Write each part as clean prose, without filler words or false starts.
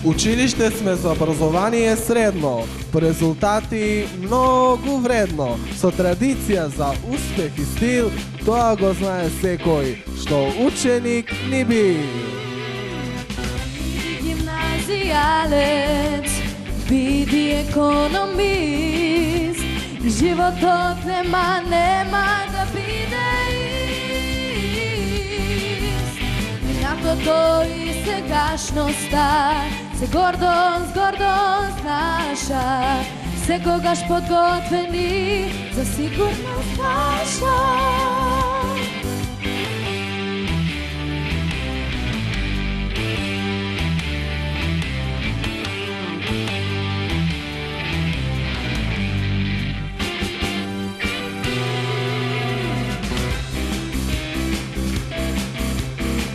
Училиште сме за образование средно, по резултати многу вредно. Со традиција за успех и стил, тоа го знае секој, што ученик ни би. Гимназијалец, биди економист, животот нема да биде ист. Минатото и сегашноста се гордост наша, секогаш подготвени за сигурност наша.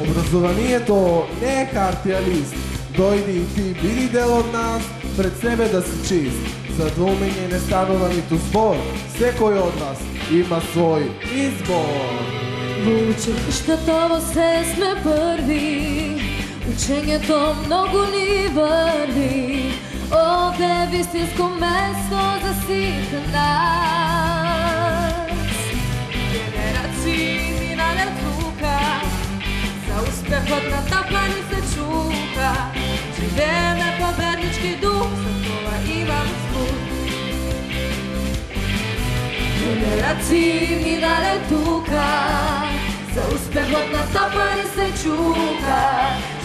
Образованието не е хартија лист. Дојди и ти биди дел од нас, пред себе да си чист. За двоумење не станува ниту збор, секој од нас има свој избор. Во училиштето во се сме први, учењето многу ни врви. Овде вистинско место за сите нас. Генерации минале тука, за успехот на тапани се чука. Живееме победнички дух, за тоа имам звук. Генерации минале тука, за успехот на тапани се чука.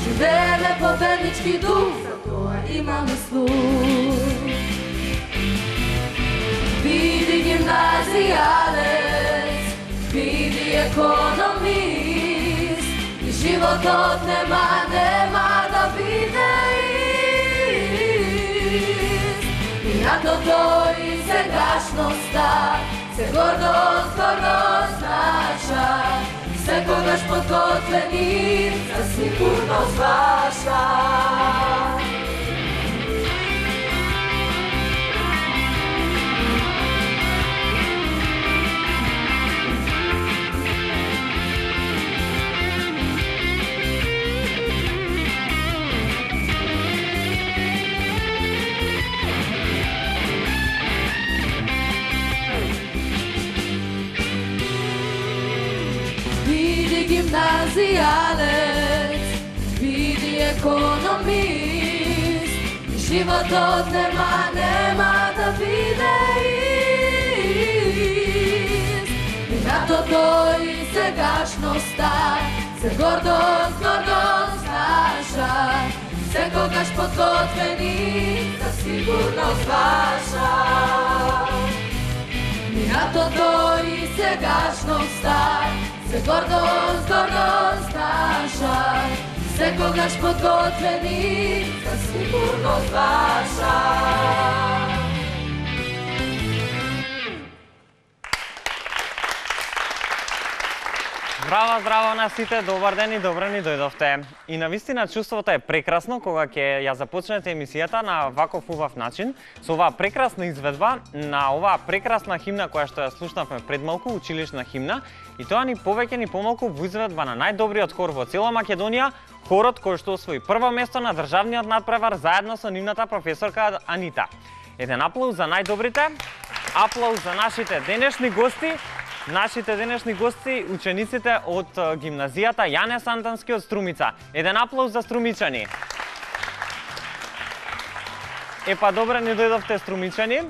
Живееме победнички дух, за тоа имаме слух. Биди гимназијалец, биди економист, и животот нема да биде ист. Минатото и сегашноста се гордост наша, секогаш подготвени за сигурност ваша. Гимназијалец, биди економист, животот нема да биде ист. Минатото и сегашноста се гордост наша, секогаш подготвени за сигурност ваша. Минатото и сегашноста се гордост наша, секогаш подготвени за сигурност ваша. Здраво на сите, добар ден и добро ни дојдовте. И навистина чувството е прекрасно кога ќе ја започнете емисијата на ваков убав начин, со оваа прекрасна изведба на оваа прекрасна химна која што ја слушнавме пред малку, училишна химна, и тоа ни повеќе ни помалку во изведба на најдобриот хор во цела Македонија, хорот кој што освои прво место на државниот надпревар заедно со нивната професорка Анита. Еден аплауз за најдобрите, аплауз за нашите денешни гости. Нашите денешни гости, учениците од гимназијата Јане Сантански од Струмица. Еден аплауз за струмичани. Епа, добре ни дојдовте струмичани.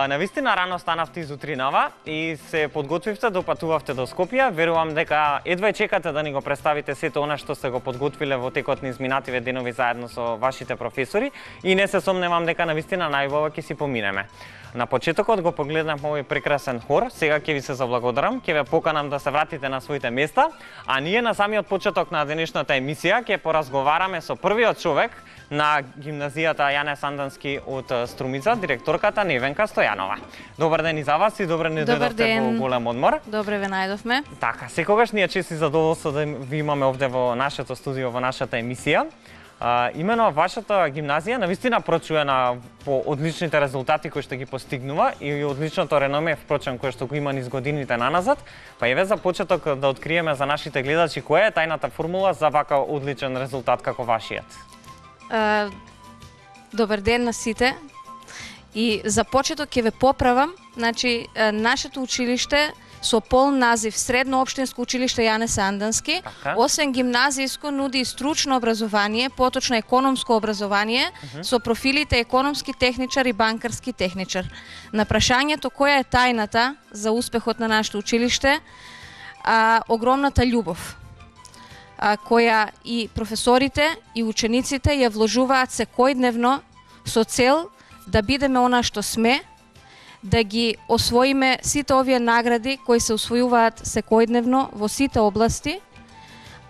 Навистина рано станавте изутринава и се подготвивте, допатувавте до Скопје. Верувам дека едва чекате да ни го представите сето она што сте го подготвиле во текот на изминативе денови заедно со вашите професори и не се сомневам дека навистина најубаво ќе си поминеме. На почетокот го погледнавме овој прекрасен хор, сега ќе ви се заблагодарам, ќе ве поканам да се вратите на своите места, а ние на самиот почеток на денешната емисија ќе поразговараме со првиот човек на гимназијата Јане Сантански од Струмица, директорката Невенка Стојанова. Добар ден и за вас и добре ни дојдовте во голем одмор. Добре ве најдовме. Така, секогаш ни е чест и задоволство да ви имаме овде во нашето студио, во нашата емисија. Имено вашата гимназија навистина прочуена по одличните резултати кои што ги постигнува и одличното реноме впрочем кој што го има низ годините наназад. Па еве за почеток да откриеме за нашите гледачи која е тајната формула за вака одличен резултат како вашиот. Добар ден на сите. И за почеток ќе ве поправам, значи нашето училиште со полн назив Средно општинско училиште Јане Сандански, освен гимназијско нуди и стручно образование, поточно економско образование со профилите економски техничар и банкарски техничар. На прашањето која е тајната за успехот на нашето училиште, огромната љубов која и професорите и учениците ја вложуваат секојдневно со цел да бидеме она што сме, да ги освоиме сите овие награди кои се освојуваат секојдневно во сите области,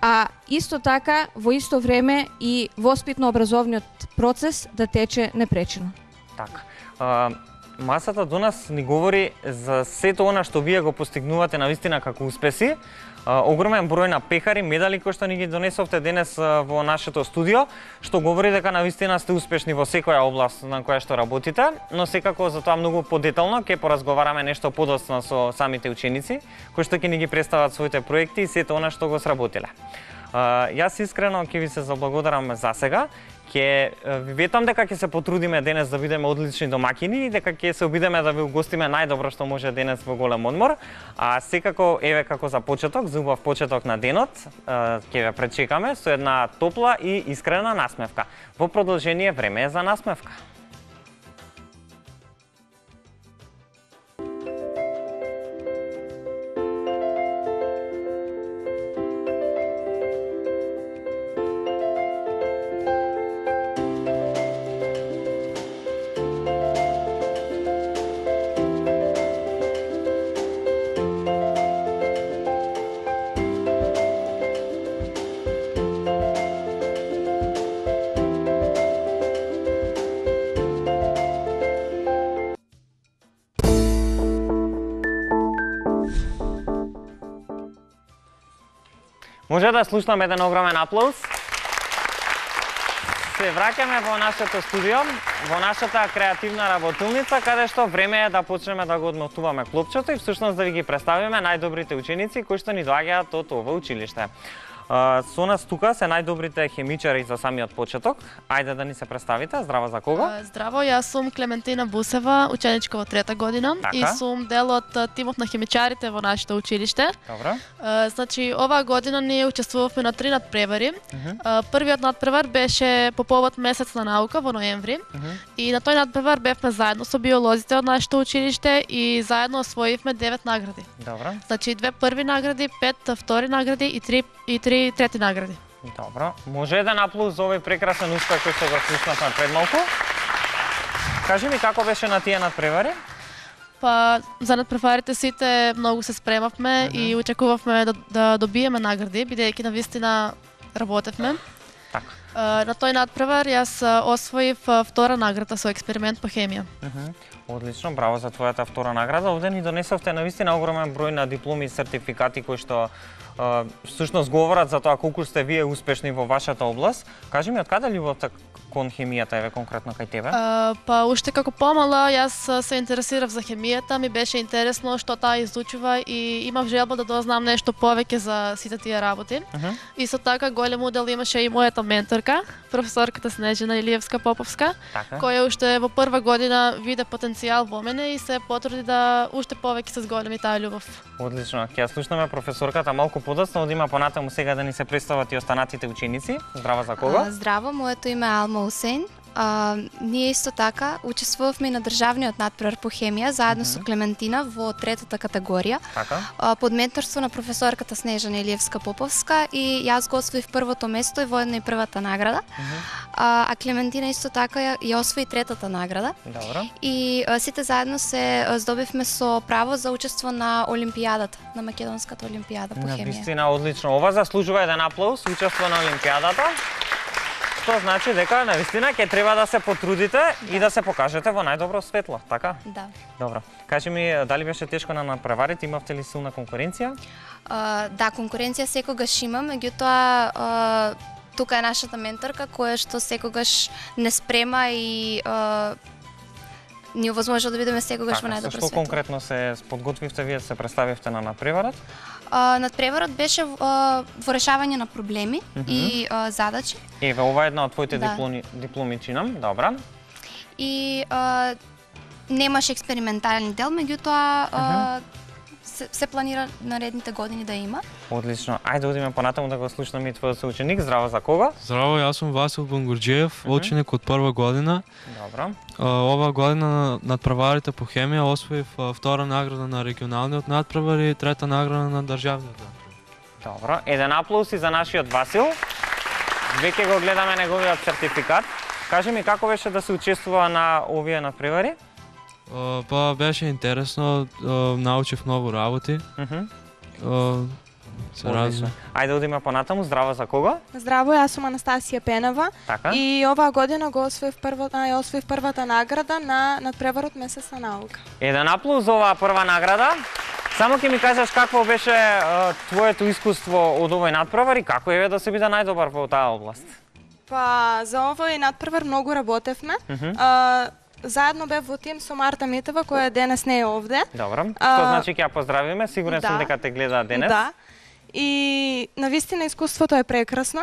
а исто така во исто време и воспитно-образовниот процес да тече непречено. Така. Масата до нас ни говори за сето она што вие го постигнувате навистина како успеси. Огромен број на пехари, медали кои што ни ги донесовте денес во нашето студио, што говори дека навистина сте успешни во секоја област на која што работите, но секако за тоа многу подетално ќе поразговараме нешто подоцна со самите ученици, кои што ќе ни ги представат своите проекти и сето она што го сработиле. Јас искрено ќе ви се заблагодарам за сега. Ќе ви ветам дека ќе се потрудиме денес да бидеме одлични домаќини и дека ќе се обидеме да ви угостиме најдобро што може денес во голем одмор. А секако еве како за почеток, за убав почеток на денот, ќе ве пречекаме со една топла и искрена насмевка. Во продолжение време е за насмевка. Може да слушнаме еден огромен аплауз. Се враќаме во нашето студио, во нашата креативна работилница, каде што време е да почнеме да го одмотуваме клопчето и всушност да ви ги представиме најдобрите ученици кои што ни доаѓаат од ова училиште. Со нас тука се најдобрите хемичари за самиот почеток. Ајде да ни се представите. Здраво, за кого? Здраво, јас сум Клементина Бусева, ученичка во 3-та година и сум дел од тимот на хемичарите во нашето училиште. Добро. Значи, оваа година ние учествувавме на 3 надпревари. Првиот надпревар беше по повод Месец на наука во ноември. И на тој надпревар бевме заедно со биолозите од нашето училиште и заедно освоивме 9 награди. Добро. Значи, 2 први награди, 5 втори награди и 3 трети награди. Добро. Може еден аплауз за овој прекрасен успех кој што го слушнавме пред малку. Кажи ми како беше на тие надпревари? Па за надпреварите сите многу се спремавме и очекувавме да добиеме награди, бидејќи навистина работевме. Така. На тој надпревар јас освоив втора награда со експеримент по хемија. Одлично, браво за твојата втора награда. Овде ни донесовте навистина огромен број на дипломи и сертификати кои што всушност говорат за тоа колку сте вие успешни во вашата област. Кажи ми, од каде љубовта кон хемијата еве конкретно кај тебе? Па уште како помала јас се интересирав за хемијата, ми беше интересно што таа изучува и имав желба да дознам нешто повеќе за сите тие работи. Исто така голем удел имаше и мојата менторка, професорката Снежана Илиевска-Поповска, која уште во прва година виде потенцијал во мене и се потруди да уште повеќе се зголеми таа љубов. Одлично, ќе ја слушнеме професорката малку подоцна, одима понатаму сега да ни се представат и останатите ученици. Здраво, за кого? Здраво, моето име е Алма Усейн. Ние исто така учествувавме на државниот надпревар по хемија заедно со Клементина во 3-та категорија. Под менторство на професорката Снежана Илиевска-Поповска и јас го освоив првото место и воедно и првата награда. А Клементина исто така ја освои 3-та награда. Добро. И сите заедно се здобивме со право за учество на Олимпијадата, на Македонската олимпијада по хемија. Навистина одлично. Ова заслужува еден аплауз, учество на Олимпијадата. Што значи дека навистина ќе треба да се потрудите и да се покажете во најдобро светло, така? Да. Добро. Кажи ми, дали беше тешко на надпреварите, имавте ли силна конкуренција? Да, конкуренција секогаш има, меѓутоа тука е нашата менторка која што секогаш не спрема и ни овозможил да бидеме секогаш во најдобро светло. Што конкретно се подготвивте, вие се представивте на надпреварот? Надпреварот беше во решавање на проблеми и задачи. Еве, ова е една од твоите дипломи чинам, добра. И немаше експериментален дел, меѓутоа се планира наредните години да има. Одлично. Ајде одиме понатаму да го слушнеме и твојот соученик. Здраво, за кого? Здраво, јас сум Васил Бунгурџиев, ученик од прва година. Добро. Ова година на надпреварите по хемија освоив втора награда на регионалниот надпревар и трета награда на државниот надпревар. Добро. Еден аплауз и за нашиот Васил. Веќе го гледаме неговиот сертификат. Кажи ми како беше да се учествува на овие надпревари? Па беше интересно, научив многу работи. Ајде одиме понатаму. Здраво, за кого? Здраво, јас сум Анастасија Пенева. Така? И оваа година го освоив првата награда на надпреварот Месец на наука. Еден аплауз за оваа прва награда. Само ќе ми кажеш какво беше твоето искуство од овој надпревар и како е да се биде најдобар во таа област? Па за овој надпревар многу работевме. Заедно бев во тим со Марта Митева, која денес не е овде. Добро. Што значи ќе ја поздравиме? Сигурен сум дека те гледа денес. Да. И навистина искуството е прекрасно.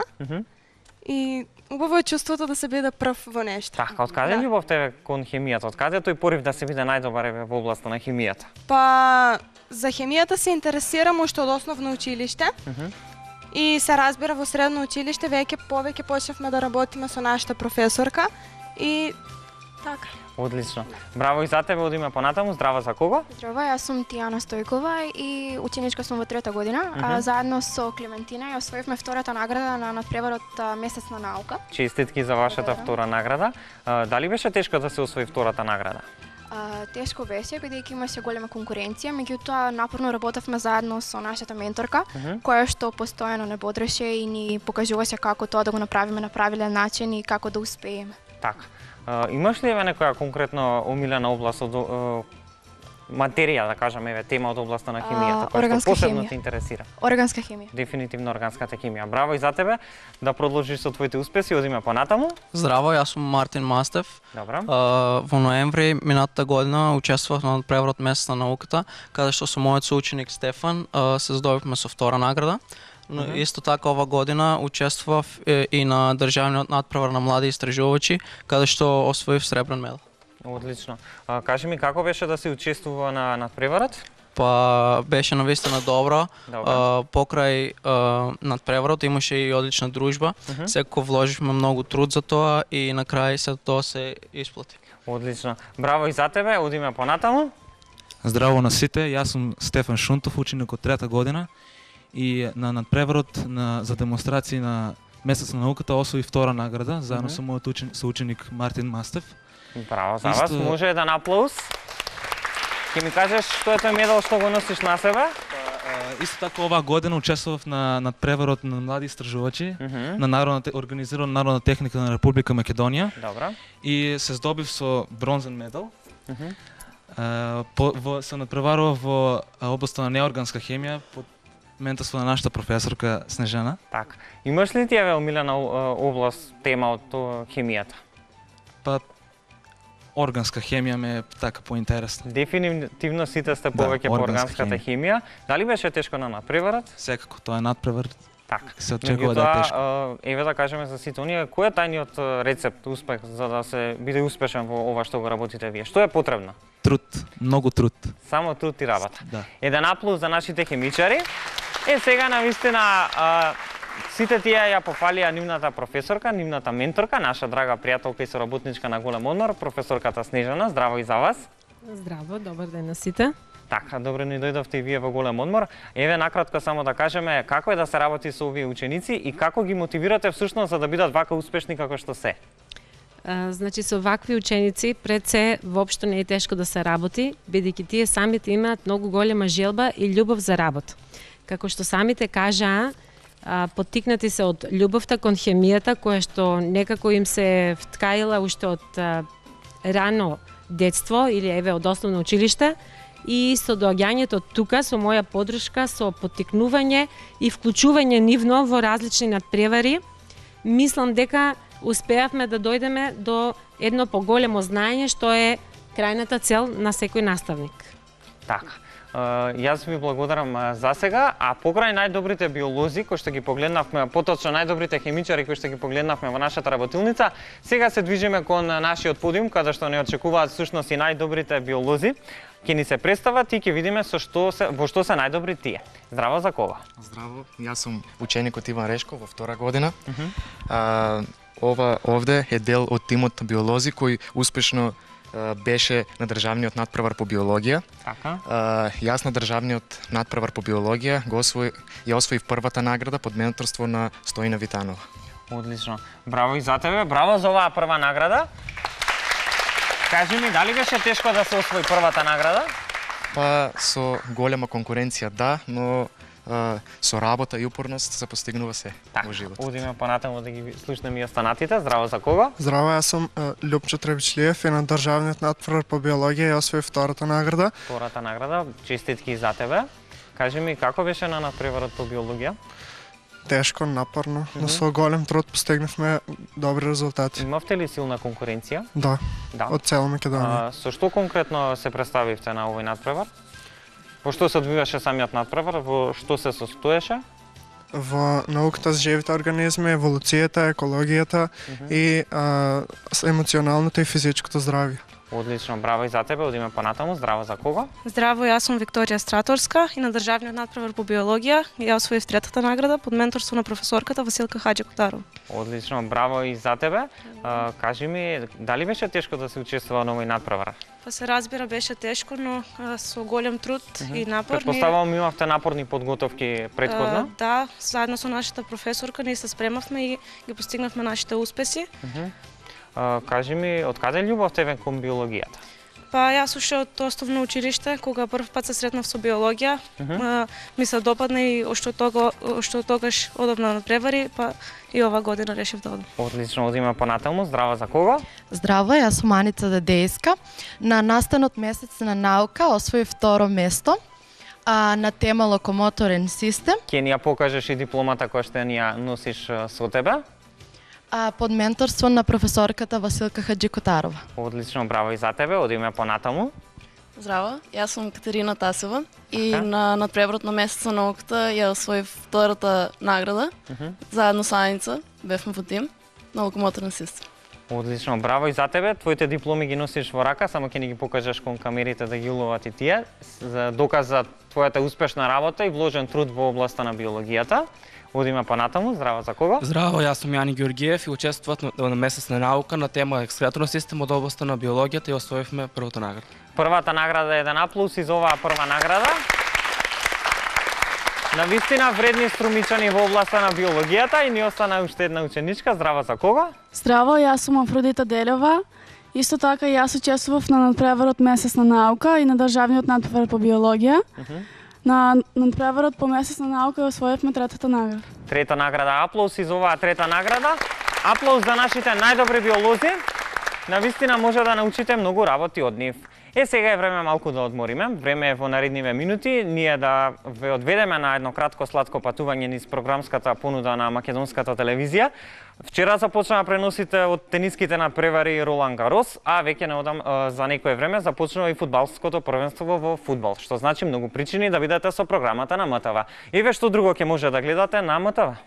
И убаво е чувството да се биде прв во нешто. Така, од каде љубов тебе кон хемијата? Од каде тој порив да се биде најдобар во областа на хемијата? Па за хемијата се интересирам уште од основно училиште. И се разбира во средно училиште повеќе почнавме да работиме со нашата професорка и така. Одлично. Браво и за тебе, одиме понатаму. Здраво, за кого? Здраво, јас сум Тијана Стојкова и ученичка сум во трета година. Заедно со Клементина ја освоивме втората награда на надпреварот Месец на наука. Честитки за вашата втора награда. Дали беше тешко да се освои втората награда? Тешко беше, бидејќи имаше голема конкуренција, меѓутоа напорно работевме заедно со нашата менторка, која што постојано не бодреше и ни покажуваше како тоа да го направиме на правилен начин и како да успееме. Така. Имаш ли некоја конкретно омилена област од материја, да кажеме, тема од областа на хемијата, која што посебно те интересира? Органска хемија. Дефинитивно органската хемија. Браво и за тебе. Да продолжиш со твоите успеси, одиме понатаму. Здраво, јас сум Мартин Мастев. Добро. Во ноември минатата година учествував на надпреварот Месец на науката, каде што со мојот соученик Стефан се здобивме со втора награда. Но исто така ова година учествував и на државниот надпревар на млади истражувачи, каде што освоив сребрен медал. Одлично. Кажи ми како беше да се учествува на надпреварот? Па беше навистина добро. Покрај надпреварот имаше и одлична дружба. Секако вложивме многу труд за тоа и на крај се тоа се исплати. Одлично. Браво и за тебе. Одиме понатаму. Здраво на сите. Јас сум Стефан Шунтов, ученик од трета година. И на надпреварот за демонстрација на Месец на науката освои втора награда, заедно со мојот соученик Мартин Мастев. Браво за вас, може еден аплауз. Ќе ми кажеш што е тој медал што го носиш на себе? Исто така оваа година учествував на надпреварот на млади истражувачи на организирана Народна техника на Република Македонија. Добро. И се здобив со бронзен медал. Се надпреварував во областа на неорганска хемија под менторство на нашата професорка Снежана. Така. Имаш ли ти омилена област, тема од хемијата? Па органска хемија ме е така поинтересна. Дефинитивно сите сте повеќе по органската хемија. Дали беше тешко на надпреварот? Секако, тоа е надпревар. Така. Се очекува да е тешко. Еве да кажеме за сите оние, кој е тајниот рецепт, успех за да се биде успешен во ова што го работите вие? Што е потребно? Труд, многу труд. Само труд и работа. Да. Еден аплауз за нашите хемичари. Сега навистина сите тие ја пофалија нивната професорка, нивната менторка, наша драга пријателка и соработничка на Голем одмор, професорката Снежана. Здраво и за вас. Здраво, добар ден на сите. Така, добро ни дојдовте и вие во Голем одмор. Еве накратко само да кажеме како е да се работи со овие ученици и како ги мотивирате всушност за да бидат вака успешни како што се. Значи со вакви ученици пред се воопшто не е тешко да се работи, бидејќи тие самите имаат многу голема желба и љубов за работа. Како што самите кажаа, поттикнати се од љубовта кон хемијата, која што некако им се вткаила уште од рано детство или еве од основно училиште, и со доаѓањето тука со моја поддршка, со поттикнување и вклучување нивно во различни надпревари, мислам дека успеавме да дојдеме до едно поголемо знаење што е крајната цел на секој наставник. Така. Јас ви благодарам за сега, а покрај најдобрите биолози кои што ги погледнавме, поточно најдобрите хемичари кои што ги погледнавме во нашата работилница, сега се движиме кон нашиот подиум каде што не очекуваат всушност и најдобрите биолози. Ќе ни се представат и ќе видиме во што се најдобри тие. Здраво, за кого? Здраво, јас сум ученикот Иван Решко во втора година. Ова овде е дел од тимот биолози кој успешно беше на државниот надпревар по биологија. Така. Јас на државниот надпревар по биологија ја освоив првата награда под менторство на Стоина Витанова. Одлично. Браво и за тебе. Браво за оваа прва награда. Кажи ми, дали беше тешко да се освои првата награда? Па со голема конкуренција да, но со работа и упорност се постигнува се во живот. Одиме понатаму да ги слушнеме и останатите. Здраво, за кого? Здраво, јас сум Љупчо Требичлиев и на државниот надпревар по биологија ја освоив втората награда. Втората награда, честитки за тебе. Кажи ми, како беше на надпреварот по биологија? Тешко, напорно, но со голем труд постигнавме добри резултати. Имавте ли силна конкуренција? Да, од цела Македонија. Со што конкретно се представивте на овој надпревар? Во што се одвиваше самиот надпревар? Во што се состоеше? Во науката за живите организми, еволуцијата, екологијата и емоционалното и физичкото здравје. Одлично, браво и за тебе. Одиме понатаму. Здраво, за кого? Здраво, јас сум Викторија Страторска и на државниот надпревар по биологија ја освоив третата награда под менторство на професорката Василка Хаџикотарова. Одлично, браво и за тебе. Кажи ми, дали беше тешко да се учествува на овој надпревар? Па се разбира, беше тешко, но со голем труд и напор. Предпоставувам имавте напорни подготовки претходно? Да, заедно со нашата професорка ние се спремавме и ги постигнавме нашите успеси. Кажи ми, од каде љубов тебе кон биологијата? Па јас уште од основно училиште, кога прв пат се сретнав со биологија, ми се допадна и уште од тогаш одам на надпревари, па и ова година решив да одам. Одлично, одиме понатаму. Здраво, за кого? Здраво, јас сум Аница Дедејска. На настанот месец на наука освоив второ место на тема локомоторен систем. Ќе ни ја покажеш и дипломата која што ни ја носиш со тебе? Под менторство на професорката Василка Хаџикотарова. Одлично, браво и за тебе. Одиме понатаму. Здраво, јас сум Катерина Тасева и на надпреварот на месец на науката ја освоив втората награда. Заедно со Аница бевме во тим на локомоторен систем. Одлично, браво и за тебе. Твоите дипломи ги носиш во рака, само ќе ни ги покажеш кон камерите да ги уловат и тие, за доказ за твојата успешна работа и вложен труд во областа на биологијата. Одиме понатаму. Здраво, за кого? Здраво, јас сум Јани Ѓоргиев и учествував на месец на наука на тема екскреторен систем од областа на биологијата и освоивме првата награда. Првата награда е еден аплауз и за оваа прва награда. Навистина вредни струмичани во областа на биологијата и ни остана уште една ученичка. Здраво, за кого? Здраво, јас сум Афродита Делева. Исто така јас учествував на надпреварот месец на наука и на државниот надпревар по биологија. На надпреварот по месец на наука освоивме третата награда. Трета награда, аплауз и за оваа трета награда. Аплауз за нашите најдобри биолози. Навистина може да научите многу работи од нив. Сега е време малку да одмориме. Време е во наредниве минути ние да ве одведеме на едно кратко сладко патување низ програмската понуда на македонската телевизија. Вчера започнаа преносите од тениските надпревари Ролан Гарос, а веќе не одам за некое време започнува и фудбалското првенство во фудбал, што значи многу причини да бидете со програмата на МТВ. Еве што друго ќе може да гледате на МТВ.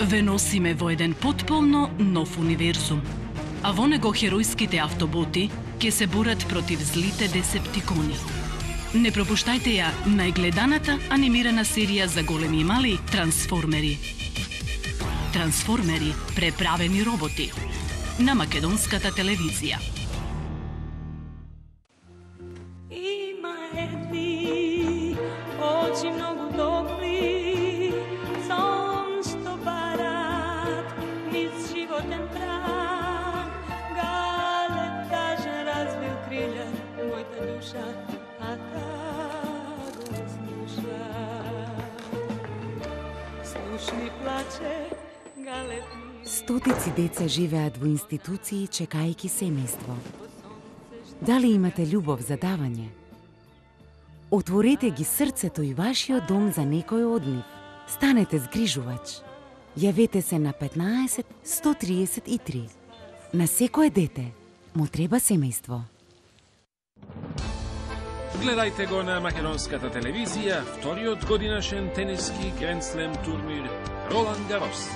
Ве носиме во еден потполно нов универзум. А во него херојските автоботи ќе се борат против злите десептикони. Не пропуштајте ја најгледаната анимирана серија за големи и мали Трансформери. Трансформери, преправени роботи. На македонската телевизија. Има едни очи многу добри, сон што барат низ животен праг. Гале каже развил крилја мојата душа, а та го слуша. Слушни плаче Гале. Стотици деца живеат во институции чекајќи семејство. Дали имате љубов за давање? Отворете ги срцето и вашиот дом за некој од нив. станете згрижувач. Јавете се на 15 133. На секое дете му треба семејство. Гледајте го на македонската телевизија вториот годинашен тениски Гранд Слем турнир Ролан Гарос.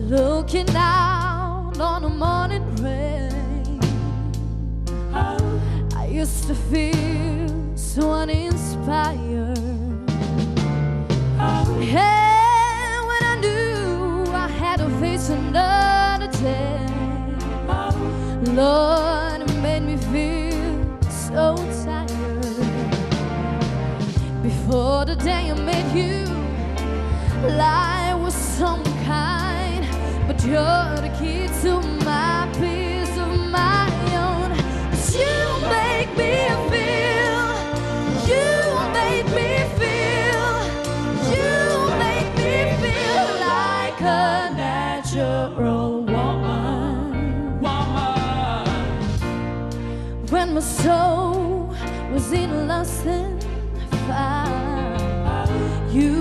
Looking out on a morning rain, I used to feel so uninspired. And when I knew I had to face another day, Lord, it made me feel so tired. Before the day I met you, life was some kind, but you're the key to my peace of my own. 'Cause you make me feel, you make me feel, you make me feel like a natural woman. When my soul was in lost and found, you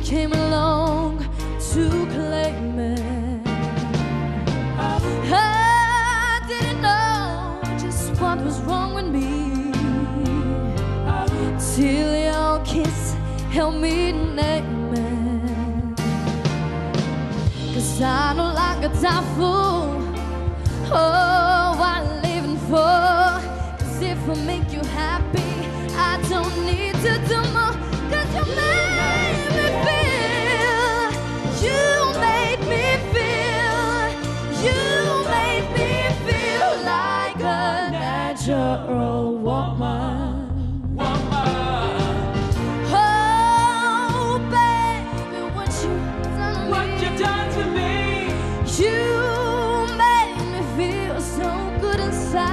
came along to claim it. I didn't know just what was wrong with me till your kiss helped me name it. 'Cause I no longer die for what I'm living for. 'Cause if I make you happy, I don't need to do more. 'Cause you made me feel, you made me feel, you made me feel like a natural woman. Oh, baby, what you done to me? You made me feel so good inside.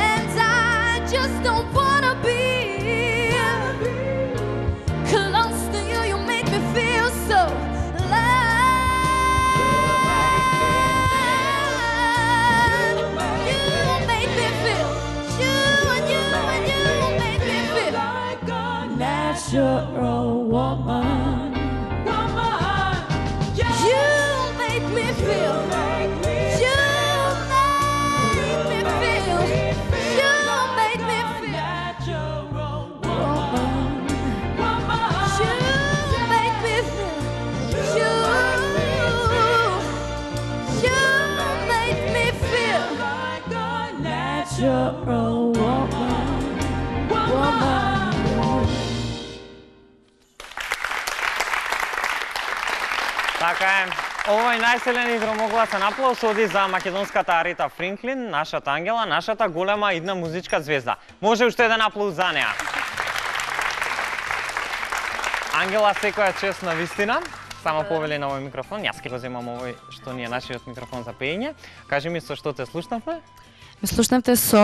And I just don't wanna be close to you. You make me feel so alive. You make me feel, you and you and you make me feel like a natural woman. You make me feel, you make me feel, you make me feel natural woman. You make me feel, you make me feel like a natural woman. Така е. Овој најселен и громогласен аплауз оди за македонската Арита Фринклин, нашата ангела, нашата голема идна музичка звезда. Може уште еден аплауз за неа. Ангела, секоја чест на вистина. Само повели на овој микрофон. Јас ќе го земам овој што ни е нашиот микрофон за пеење. Кажи ми со што те слушнавме? Ме слушнавте со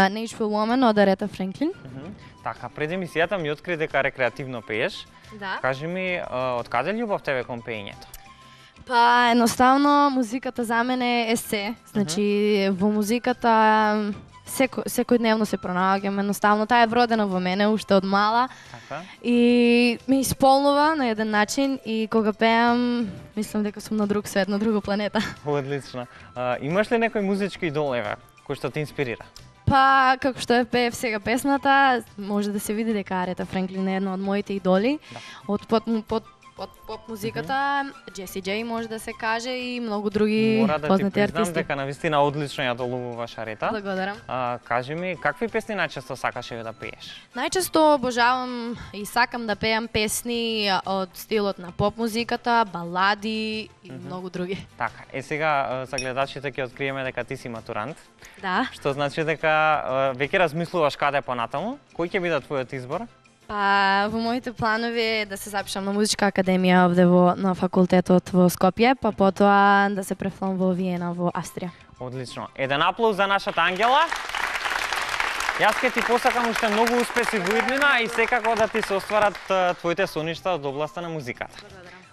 Natural Woman од Арета Фринклин. Така, пред емисијата ми откри дека рекреативно пееш. Да. Кажи ми, од каде љубов тебе кон пеењето? Па, едноставно, музиката за мене е се. Значи, во музиката секојдневно се пронаоѓам, едноставно, таа е вродена во мене уште од мала. Така. И ме исполнува на еден начин и кога пеам, мислам дека сум на друг свет, на друга планета. Одлично. Имаш ли некој музички идол, еве, кој што те инспирира? Па, како што е пеев сега песната, може да се види дека Арета Фринклин е една од моите идоли. Да. Од Од поп музиката, Джеси Джей може да се каже и многу други Мора да ти познати признам артисти. дека навистина одлично ја долувуваш Арета. Благодарам. Кажи ми, какви песни најчесто сакаш да пееш? Најчесто обожавам и сакам да пеам песни од стилот на поп музиката, балади и многу други. Така, сега за гледачите ќе откриеме дека ти си матурант. Да. Што значи дека веќе размислуваш каде понатаму? Кој ќе биде твојот избор? Па, во моите планови е да се запишам на музичка академија овде на факултетот во Скопје, па потоа да се префлам во Виена во Австрија. Одлично. Еден аплауз за нашата Ангела. Јас ќе ти посакам уште многу успеси во иднина и секако да ти се остварат твоите соништа од областа на музиката.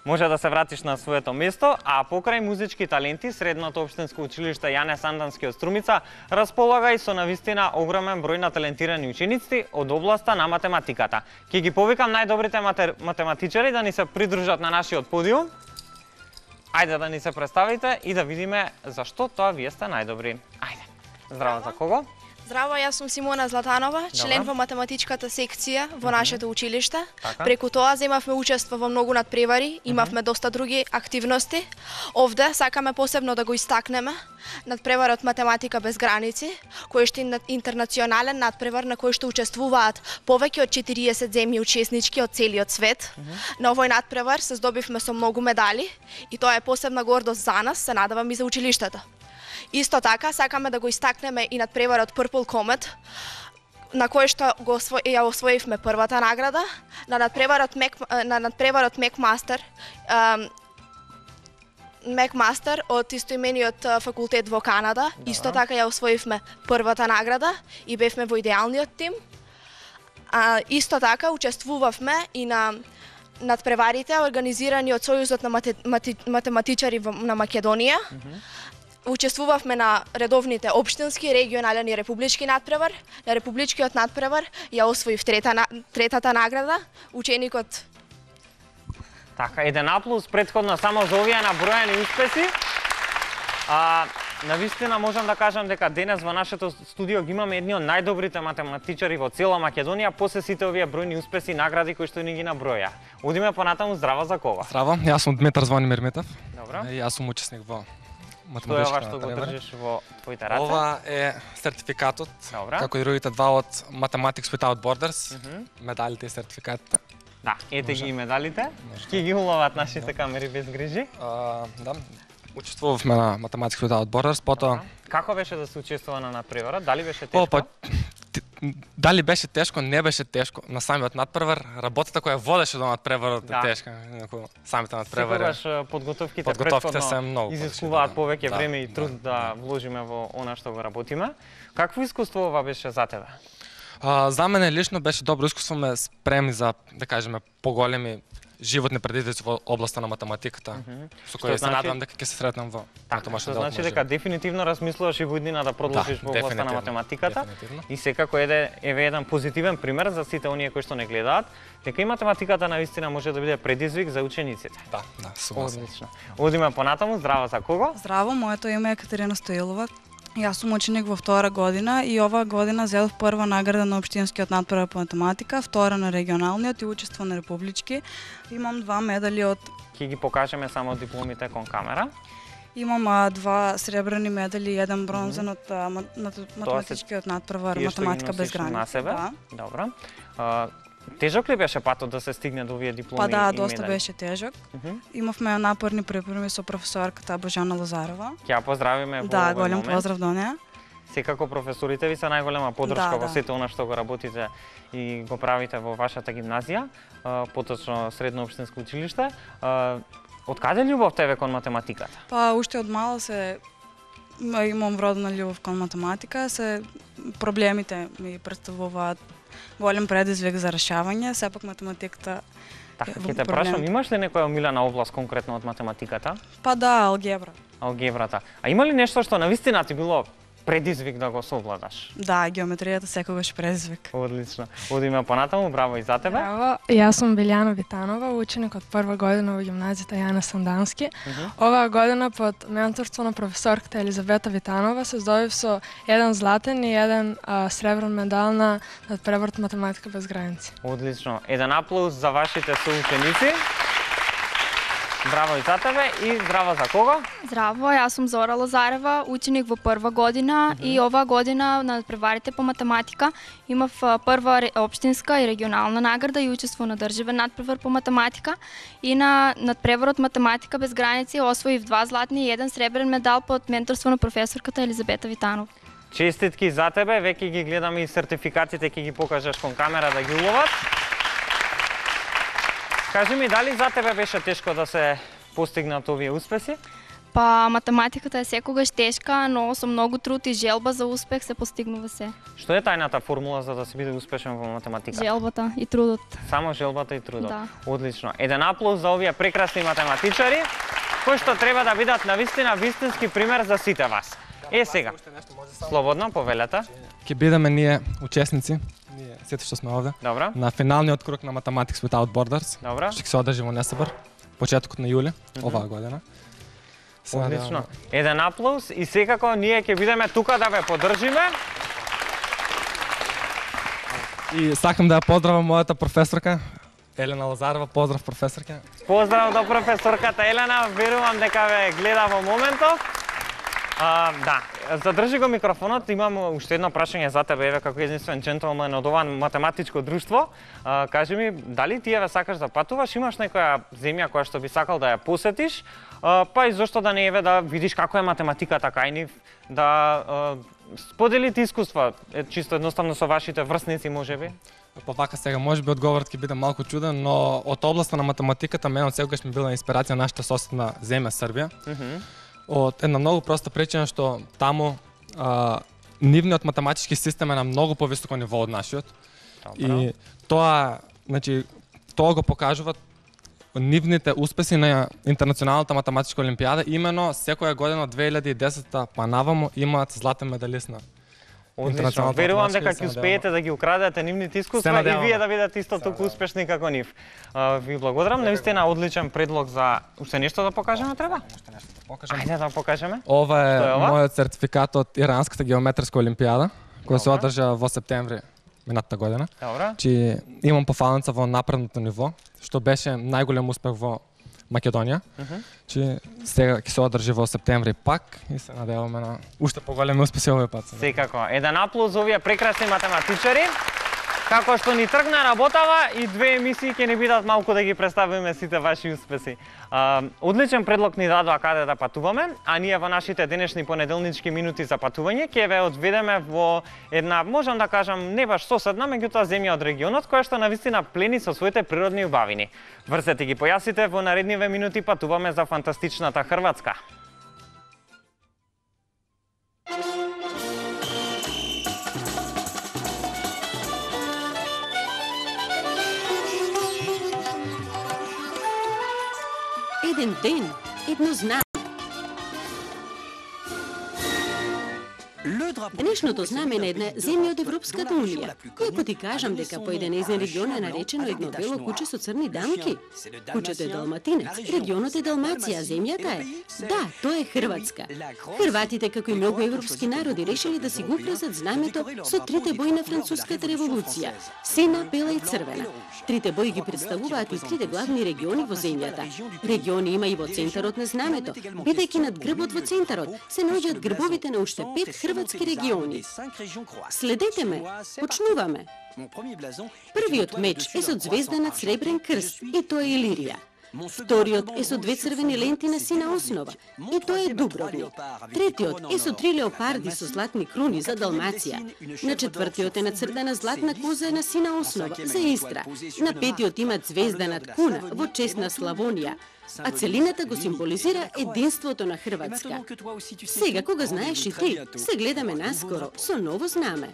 Може да се вратиш на своето место, а покрај музички таленти, Средното општинско училиште Јане Сандански од Струмица располага и со навистина огромен број на талентирани ученици од областа на математиката. Ќе ги повикам најдобрите математичари да ни се придружат на нашиот подиум. Ајде да ни се представите и да видиме зашто тоа вие сте најдобри. Ајде. Здраво за кого? Здраво, јас сум Симона Златанова, член во математичката секција во нашето училиште. Преку тоа земавме учество во многу надпревари, имавме доста други активности. Овде сакаме посебно да го истакнеме надпреварот Математика без граници, кој што е интернационален надпревар на кој што учествуваат повеќе од 40 земји учеснички од целиот свет. На овој надпревар се здобивме со многу медали и тоа е посебна гордост за нас, се надевам и за училиштето. Исто така, сакаме да го истакнеме и надпреварот Purple Comet, на кој што ја освоивме првата награда, на надпреварот Мекмастер од истоимениот факултет во Канада. Исто така ја освоивме првата награда и бевме во идеалниот тим. Исто така, учествувавме и на надпреварите организирани од Сојузот на математичари на Македонија. Учествувавме на редовните општински, регионален и републички надпревар. На републичкиот надпревар ја освоив третата награда, ученикот. Така, еден аплауз претходно само за овие набројани успеси. Навистина можам да кажам дека денес во нашето студио ги имаме едни од најдобрите математичари во цела Македонија, после сите овие бројни успеси и награди кои што ни ги наброја. Одиме понатаму, здраво за кого? Здраво, јас сум Дмитар Звонимир Митев. Добро. И јас сум учесник во Што е ова што го држиш во твоите раце? Ова е сертификатот, како и другите два од Mathematics Without Borders, медалите и сертификатите. Да, ете ги и медалите. Ќе ги уловат нашите камери без грижи. Да, учествувавме на Mathematics Without Borders, потоа... Како беше да се учествува на надпреварот? Дали беше тешко? Дали беше тешко, не беше тешко. На самиот надпревар, работата која водеше до надпреварот е тешка. Самите надпревари. Секогаш подготовките се многу изискуваат повеќе време и труд да вложиме во она што го работиме. Какво искуство ова беше за тебе? За мене лично беше добро искуство, ме спремни за, да кажеме, поголеми животни предизвици во областа на математиката, со кои се надевам дека ќе се сретнам во тоа значи дека дефинитивно размислуваш и во иднина да продолжиш во областа на математиката и секако еве еден позитивен пример за сите оние кои што не гледаат, дека и математиката навистина може да биде предизвик за учениците. Да, согласен. Одлично. Одиме понатаму, здраво за кого? Здраво, моето име е Екатерина Стоилова. Јас сум ученик во втора година и оваа година зедов прва награда на општинскиот надпревар по математика, втора на регионалниот и учество на републички. Имам два медали од... Ќе ги покажеме само дипломите кон камера. Имам два сребрени медали и еден бронзен од математичкиот надпревар математика без граници. Да. Добро. Тежок ли беше патот да се стигне до овие дипломи? Па да, доста беше тежок. Имавме напорни препирми со професорката Божана Лозарова. Ќе ја поздравиме во Да, голем поздрав до неа. Секако професорите ви се најголема поддршка во сите она што го работите и го правите во вашата гимназија, поточно Средно општинско училиште. Од каде љубов тебе кон математиката? Па уште од мала имам вродена љубов кон математика, проблемите ми представуваат голем предизвик за решавање, сепак математиката Така, ќе те прашам, имаш ли некоја омилена област конкретно од математиката? Па да, алгебра. Алгебрата. А има ли нешто што навистина ти било предизвик да го совладаш? Да, геометријата секогаш предизвик. Одлично. Одиме понатаму, браво и за тебе. Браво, јас сум Билјана Витанова, ученик од прва година во гимназијата Јане Сандански. Оваа година под менторство на професорката Елизавета Витанова се здобив со еден златен и еден сребрен медал на надпреварот математика без граници. Одлично. Еден аплауз за вашите соученици. Здраво и за тебе и здраво за кого? Здраво, јас сум Зора Лозарева, ученик во прва година и оваа година на надпреварите по математика имав прва општинска и регионална награда и учество на државен надпревар по математика и на надпреварот математика без граници освоив 2 златни и 1 сребрен медал под менторство на професорката Елизабета Витанова. Честитки за тебе, веќе ги гледаме и сертификатите, ќе ги покажеш кон камера да ги уловат. Кажи ми, дали за тебе беше тешко да се постигнат овие успеси? Па, математиката е секогаш тешка, но со многу труд и желба за успех се постигнува се. Што е тајната формула за да се биде успешен во математика? Желбата и трудот. Само желбата и трудот. Да. Одлично. Еден аплауз за овие прекрасни математичари, кои што треба да бидат навистина вистински пример за сите вас. Сега, слободно, повелете. Ќе бидеме ние учесници, ние сите што сме овде, Добро. на финалниот круг на Mathematics Without Borders, Добро. што ќе се одржи во Несебр, почетокот на јули, оваа година. Одлично. Еден аплауз и секако ние ќе бидеме тука да ве поддржиме. И сакам да ја поздравам мојата професорка, Елена Лазарова. Поздрав, професорка. Поздрав до професорката Елена, верувам дека ве гледа во моментов. Да, задржи го микрофонот, имам уште едно прашање за тебе, еве како единствен джентлмен од ова математичко друштво. Кажи ми, дали ти еве сакаш да патуваш, имаш некоја земја која што би сакал да ја посетиш, па и зошто да не еве да видиш како е математиката кај нив, да споделите искуства, чисто едноставно со вашите врсници можеби? Па вака сега, можеби одговорот ќе биде малку чуден, но од областа на математиката мене од секогаш ми била инспирација нашата соседна земја Србија. Од една многу проста причина што таму нивниот математички систем е на многу повисоко ниво од нашиот. И тоа, значи, тоа го покажуваат нивните успеси на Интернационалната математичка олимпијада, имено секоја година од 2010 па наваму имаат златен медалист на Одлично. Верувам дека ќе успеете да ги украдете нивните искуства и вие да бидете исто толку успешни како нив. Ви благодарам, навистина одличен предлог за уште нешто да покажеме треба? Ајде да покажеме. Ова е мојот сертификат од Иранската геометриска олимпијада, која се одржа во септември минатата година. Добро. Чи имам пофалница во напредното ниво, што беше најголем успех во Македонија. Чи сега ќе се одржи во септември пак и се надеваме на уште поголеми успеси овој пат. Секако. Еден аплауз за овие прекрасни математичари. Како што ни тргна работава и 2 емисии ќе ни бидат малку да ги представиме сите ваши успеси. Одличен предлог ни дадоа каде да патуваме, а ние во нашите денешни понеделнички минути за патување ќе ве одведеме во една, можам да кажам, не баш соседна, меѓутоа земја од регионот која што навистина плени со своите природни убавини. Врсете ги појасите, во наредниве минути патуваме за фантастичната Хрватска. Еден ден, едно знаме. Денешното знаме на една земја од Европската унија. Ако ти кажам дека по еден нејзин регион е наречено едно бело куче со црни дамки, кучето е далматинец, регионот е Далмација, а земјата е... Да, тоа е Хрватска. Хрватите, како и многу европски народи, решили да си го украсат знамето со трите бои на Француската револуција – сина, бела и црвена. Трите бои ги представуваат и трите главни региони во земјата. Региони има и во центарот на знамето. Бидејќи над грбот во центарот се наоѓаат грбовите на уште 5 хрватски региони. Следете ме, почнуваме. Првиот меч е со звезданат сребрен крст и тоа е Илирија. Вториот е со 2 црвени ленти на сина основа и тоа е Дубровник. Третиот е со 3 леопарди со златни круни за Далмација. На четвртиот е нацртана златна коза на сина основа за Истра. На петиот има звезданат куна во чест на Славонија, а целината го символизира единството на Хрватска. Сега, кога знаеш и ти, се гледаме наскоро со ново знаме.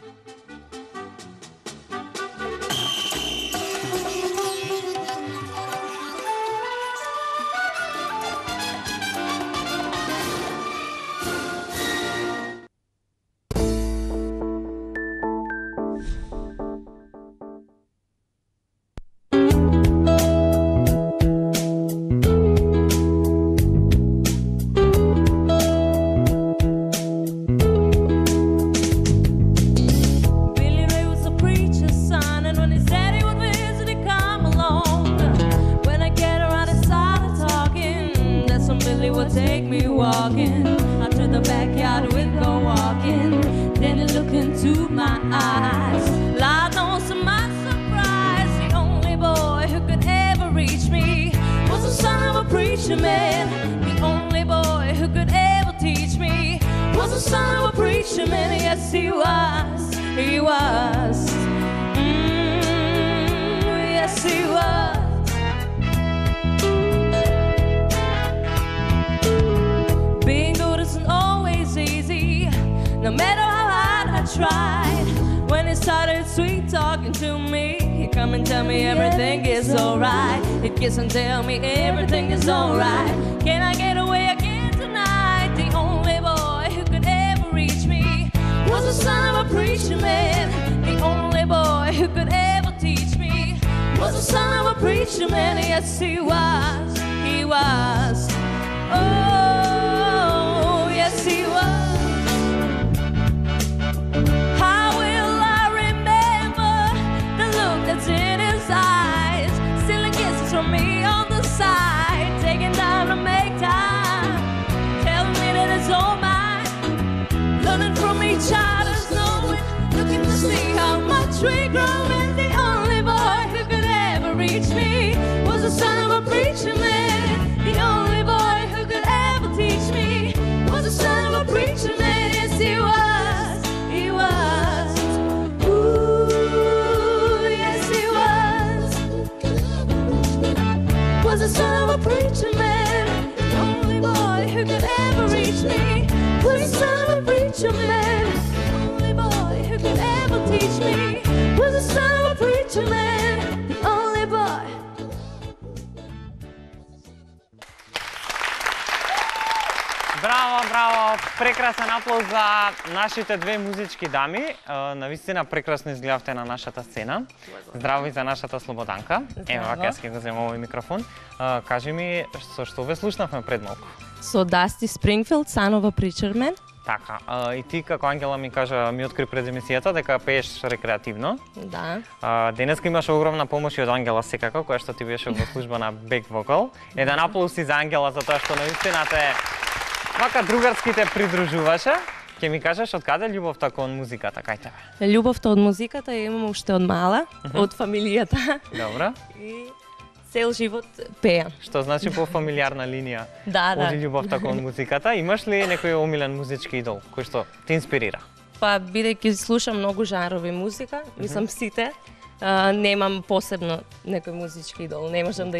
talking. Out to the backyard with the walking. Then he looked into my eyes. Lord knows to my surprise, the only boy who could ever reach me was the son of a preacher man. The only boy who could ever teach me was the son of a preacher man. Yes, he was. He was. Yes, he was. Being good isn't always easy, no matter how hard I tried. When he started sweet talking to me, he'd come and tell me everything is alright. He'd kiss and tell me everything is alright. Can I get away again tonight? The only boy who could ever reach me was the son of a preacher man. The only boy who could ever teach me was the son of a preacher man. Yes, he was. He was. Oh, yes, he was. How will I remember the look that's in his eyes? Stealing kisses from me on the side, taking time to make time, telling me that it's all mine. Learning from each other's knowing, looking to see how much we grow. And the only boy who could ever reach me was the son of a preacher man. The only boy who could ever teach me was the son of a preacher man. Yes, he was. He was. Ooh, yes, he was. Was the son of a preacher man. The only boy who could ever reach me was the son of a preacher man. The only boy who could ever teach me was the son of a preacher man. The only boy. Браво, браво! Прекрасен аплауз за нашите две музички дами. Навистина прекрасно изгледавте на нашата сцена. Здраво и за нашата Слободанка. Ево, вака јас ќе го земам овој микрофон. Кажи ми, со што ве слушнавме пред малку? Со Дасти Спрингфилд, Son of a Preacher Man. Така, и ти како Ангела ми кажа, ми откри пред емисијата дека пееш рекреативно. Да. Денеска имаш огромна помош и од Ангела секако, која што ти беше во служба на бек вокал. Еден аплауз и за Ангела за тоа што навистина те вака другарски те придружуваше. Ќе ми кажеш од каде љубовта кон музиката, кај тебе? Љубовта од музиката ја имам уште од мала, од фамилијата. Добро. И цел живот пеам. Што значи по фамилиарна линија? Да. Оди љубовта кон музиката. Имаш ли некој омилен музички идол кој што те инспирира? Па бидејќи слушам многу жанрови музика, мислам сите, немам посебно некој музички идол, не можам да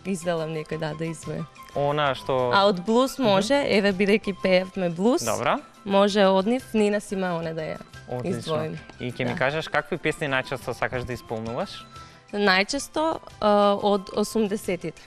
изделам некој да изведе. Она што А од блуз може, еве бидејќи пеевме блуз. Добра. Може од нив Нина Симеоне да ја издвоим. И ќе ми кажеш какви песни најчесто сакаш да исполнуваш? Најчесто од 80-тите.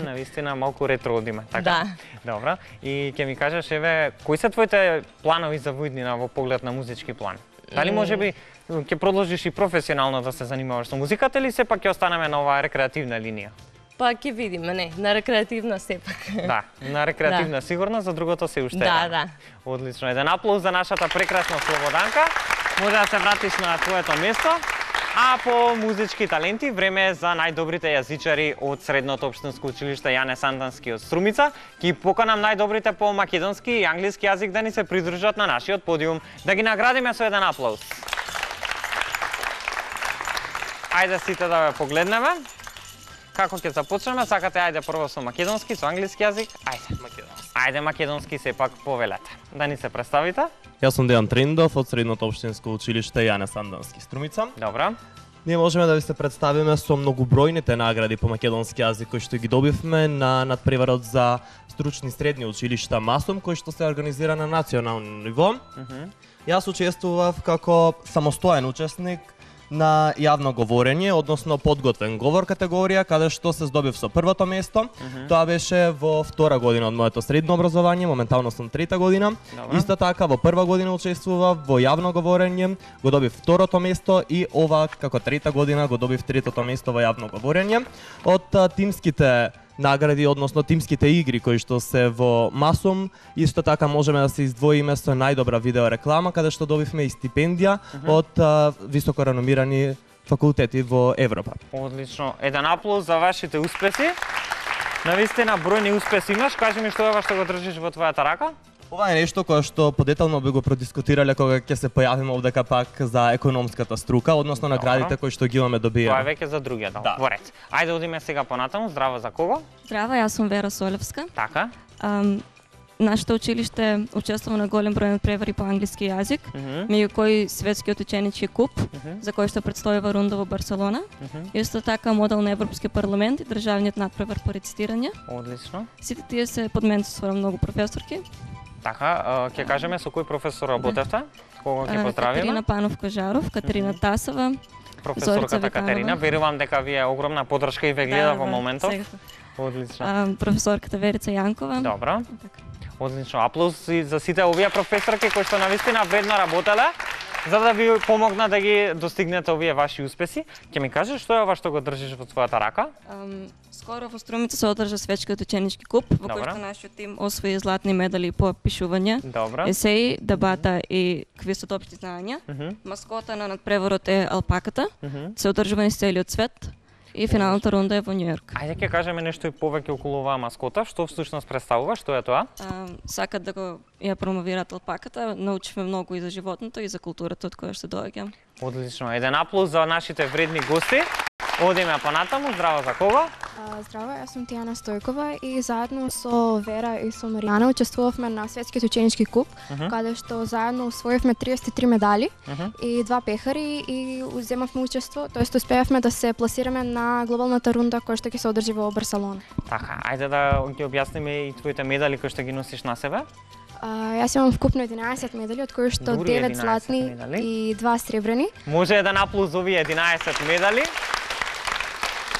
Навистина малку ретро одиме, така? Да. Добра. И ќе ми кажеш еве кои се твоите планови за војднина во поглед на музички план? Дали можеби ќе продолжиш и професионално да се занимаваш со музиката или сепак ќе останеме на оваа рекреативна линија? Па ќе видиме, не, на рекреативна сепак. Да, на рекреативна сигурно, за другото се уште. Да. Одлично. Еден аплауз за нашата прекрасна Слободанка. Може да се вратиш на твоето место. А по музички таленти, време е за најдобрите јазичари од Средното општинско училиште Јане Сандански од Струмица. Ќе поканам најдобрите по македонски и англиски јазик да ни се придружат на нашиот подиум. Да ги наградиме со еден аплауз. Ајде сите да ве погледнеме. Како ќе започнеме? Сакате ајде прво со македонски, со англиски јазик? Ајде. Македонски. Ајде македонски сепак повелете. Да ни се представите? Јас сум Дејан Триндов од Средното општинско училиште Јане Сандански Струмица. Добра. Ние можеме да ви се представиме со многобројните награди по македонски јазик кои што ги добивме на надпреварот за стручни средни училишта МАСУМ кој што се организира на национално ниво. Јас учествував како самостоен учесник на јавно говорење, односно подготвен говор категорија, каде што се здобив со првото место. Тоа беше во втора година од моето средно образование, моментално сум трета година. Исто така во прва година учествував во јавно говорење, го добив второто место и ова како трета година го добив третото место во јавно говорење. Од тимските награди, односно тимските игри кои што се во МАСУМ, исто така можеме да се издвоиме со најдобра видео реклама, каде што добивме и стипендија од високо реномирани факултети во Европа. Одлично. Еден аплауз за вашите успеси. Навистина бројни успеси имаш, кажи ми што е ова што го држиш во твојата рака? Ова е нешто кое што подетално би го продискутирале кога ќе се појавиме овдека пак за економската струка, односно наградите кои што ги имаме добиено. Тоа е веќе за другиот, во ред. Ајде одиме сега понатаму. Здраво, за кого? Здраво, јас сум Вера Солевска. Така. Нашето училиште учествува на голем број надпревари по англиски јазик, меѓу кои светскиот ученички куп, за кој што претстојува рунда во Барселона. Исто така модел на Европски парламент и државниот надпревар по рецитирање. Одлично. Сите тие се под мен со многу професорки. Така, ќе кажеме со кој професор работевте? Кого ќе поздравиме? Катерина Панов-Кажаров, Катерина Тасова, професорката Катерина. Верувам дека ви е огромна поддршка и ве гледа во моментов. Одлично. Професорката Верица Јанкова. Добро. Одлично. Аплауз и за сите овие професорки кои што навистина ведно работеле за да ви помогна да ги достигнете овие ваши успеси. Ќе ми кажеш што е ова што го држиш во твојата рака? Скоро во Струмица се одржа светскиот ученички куп, во кој што нашиот тим освои златни медали по пишување, есеи, дебата и квиз од општи знаења. Маскота на надпреварот е алпаката, се одржува низ целиот свет. И финалната рунда е во Њујорк. Ајде ќе кажеме нешто и повеќе околу оваа маскота, што всушност представува, што е тоа? Сакат да го ја промовираат алпаката, научивме многу и за животното и за културата од која што доаѓам. Одлично. Еден аплауз за нашите вредни гости. Одиме понатаму. Здраво, за кого? Здраво, јас сум Тијана Стојкова и заедно со Вера и со Маријана учествувавме на светскиот ученички куп, каде што заедно усвоивме 33 медали и 2 пехари и земавме учество, тоест успеавме да се пласираме на глобалната рунда која што ќе се одржи во Барселона. Така, ајде да ги објасниме и твоите медали кои што ги носиш на себе. Јас имам вкупно 11 медали, од кои што 9 златни и 2 сребрени. Може еден аплауз за овие 11 медали.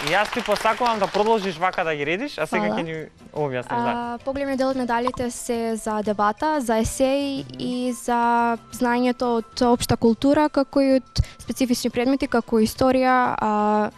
И јас ти посакувам да продолжиш вака да ги редиш, а сега ќе ни објасниш. Поголемиот дел од медалите се за дебата, за есеи и за знаењето од општа култура, како и од специфични предмети, како историја,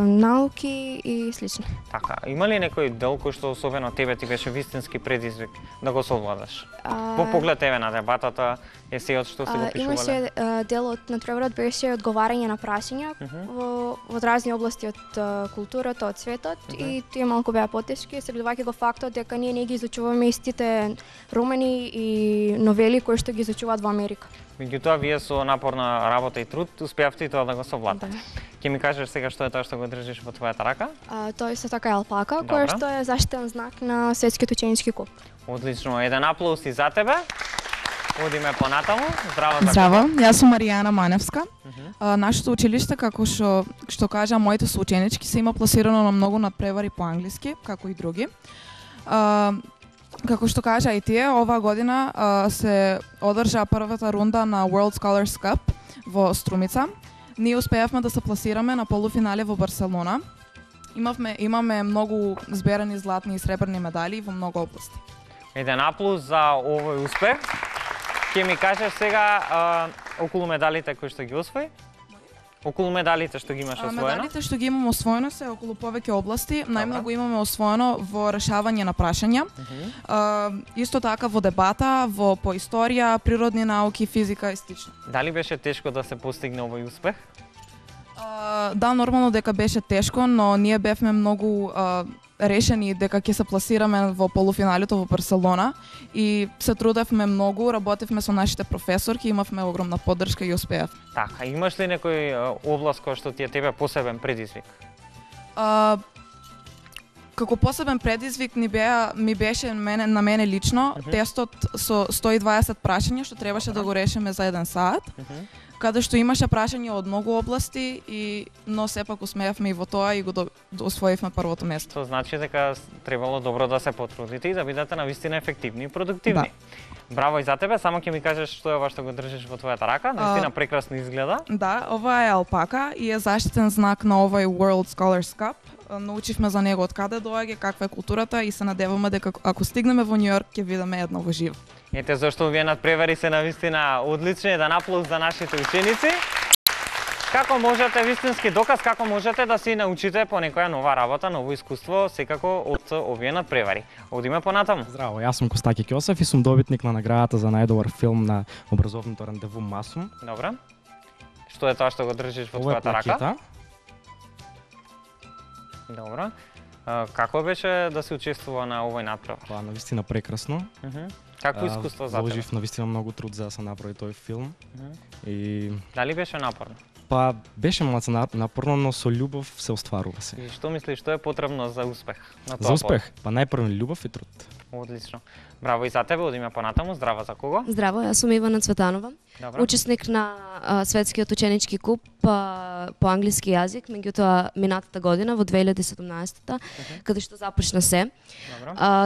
науки и слично. Така, има ли некој дел кој што особено тебе ти беше вистински предизвик да го совладаш? По поглед тебе на дебатата, есејот што си го пишувале? Имаше делот на надпреварот беше одговарање на прашања во разни области од културата, од светот и тие малку беа потешки, следувајќи го фактот дека ние не ги изучуваме истите романи и новели кои што ги изучуваат во Америка. Меѓутоа, вие со напорна работа и труд успеавте и тоа да го совладате. Ќе ми кажеш сега што е тоа што го држиш во твојата рака? Тоа исто така е алпака, која што е заштитен знак на светскиот ученички куп. Одлично, еден аплауз и за тебе. Одиме понатаму. Здраво. Здраво, јас сум Маријана Маневска. Нашето училиште, како што кажа моите соученички, се има пласирано на многу надпревари по англиски, како и други. Како што кажа и тие, оваа година се одржа првата рунда на World Scholars Cup во Струмица. Ние успеавме да се пласираме на полуфинале во Барселона. Имаме многу зберани златни и сребрни медали во многу области. Еден аплауз за овој успех. Ќе ми кажеш сега околу медалите кои што ги освои? Околу медалите што ги имаш освоено? Медалите што ги имам освоено се околу повеќе области. Најмногу имаме освоено во решавање на прашања. Исто така во дебата, по историја, природни науки, физика и слично. Дали беше тешко да се постигне овој успех? Да, нормално дека беше тешко, но ние бевме многу решени дека ќе се пласираме во полуфиналето во Барселона и се трудевме многу, работевме со нашите професорки, имавме огромна поддршка и успеавме. Така, имаш ли некој област која што ти е тебе посебен предизвик? Како посебен предизвик ми беше на мене лично тестот со 120 прашања што требаше да го решиме за 1 сат. Каде што имаше прашања од многу области, но сепак усмеавме и во тоа и го освоивме првото место. Тоа значи дека требало добро да се потрудите и да бидете навистина ефективни и продуктивни. Да. Браво и за тебе, само ќе ми кажеш што е ова што го држиш во твојата рака, навистина прекрасно изгледа. Да, ова е алпака и е заштитен знак на овој World Scholars Cup. Научивме за него од каде доаѓа, каква е културата и се надеваме дека ако стигнеме во Њујорк ќе видиме едно во живо. Ете зашто овие надпревари се навистина одлични, еден аплауз за нашите ученици. Како можете, вистински доказ како можете да си научите по некоја нова работа, ново искуство, секако од овие надпревари. Одиме понатаму. Здраво, јас сум Костаки Ќосев и сум добитник на наградата за најдобар филм на образовното рандеву Масум. Добра. Што е тоа што го држиш во твојата рака? Добро. Како беше да се учествува на овој натпревар? Па, навистина прекрасно. Какво искуство за тебе? Вложив навистина многу труд за да се направи тој филм. И дали беше напорно? Па, беше малку напорно, но со љубов се остварува се. И што мислиш, што е потребно за успех на тоа? За успех? Па најпрво љубов и труд. Одлично. Браво и за тебе, одиме понатаму. Здраво, за кого? Здраво, јас сум Ивана Цветанова. Добро. Учесник на светскиот ученички куп по англиски јазик, меѓутоа минатата година во 2017-та, каде што започна се.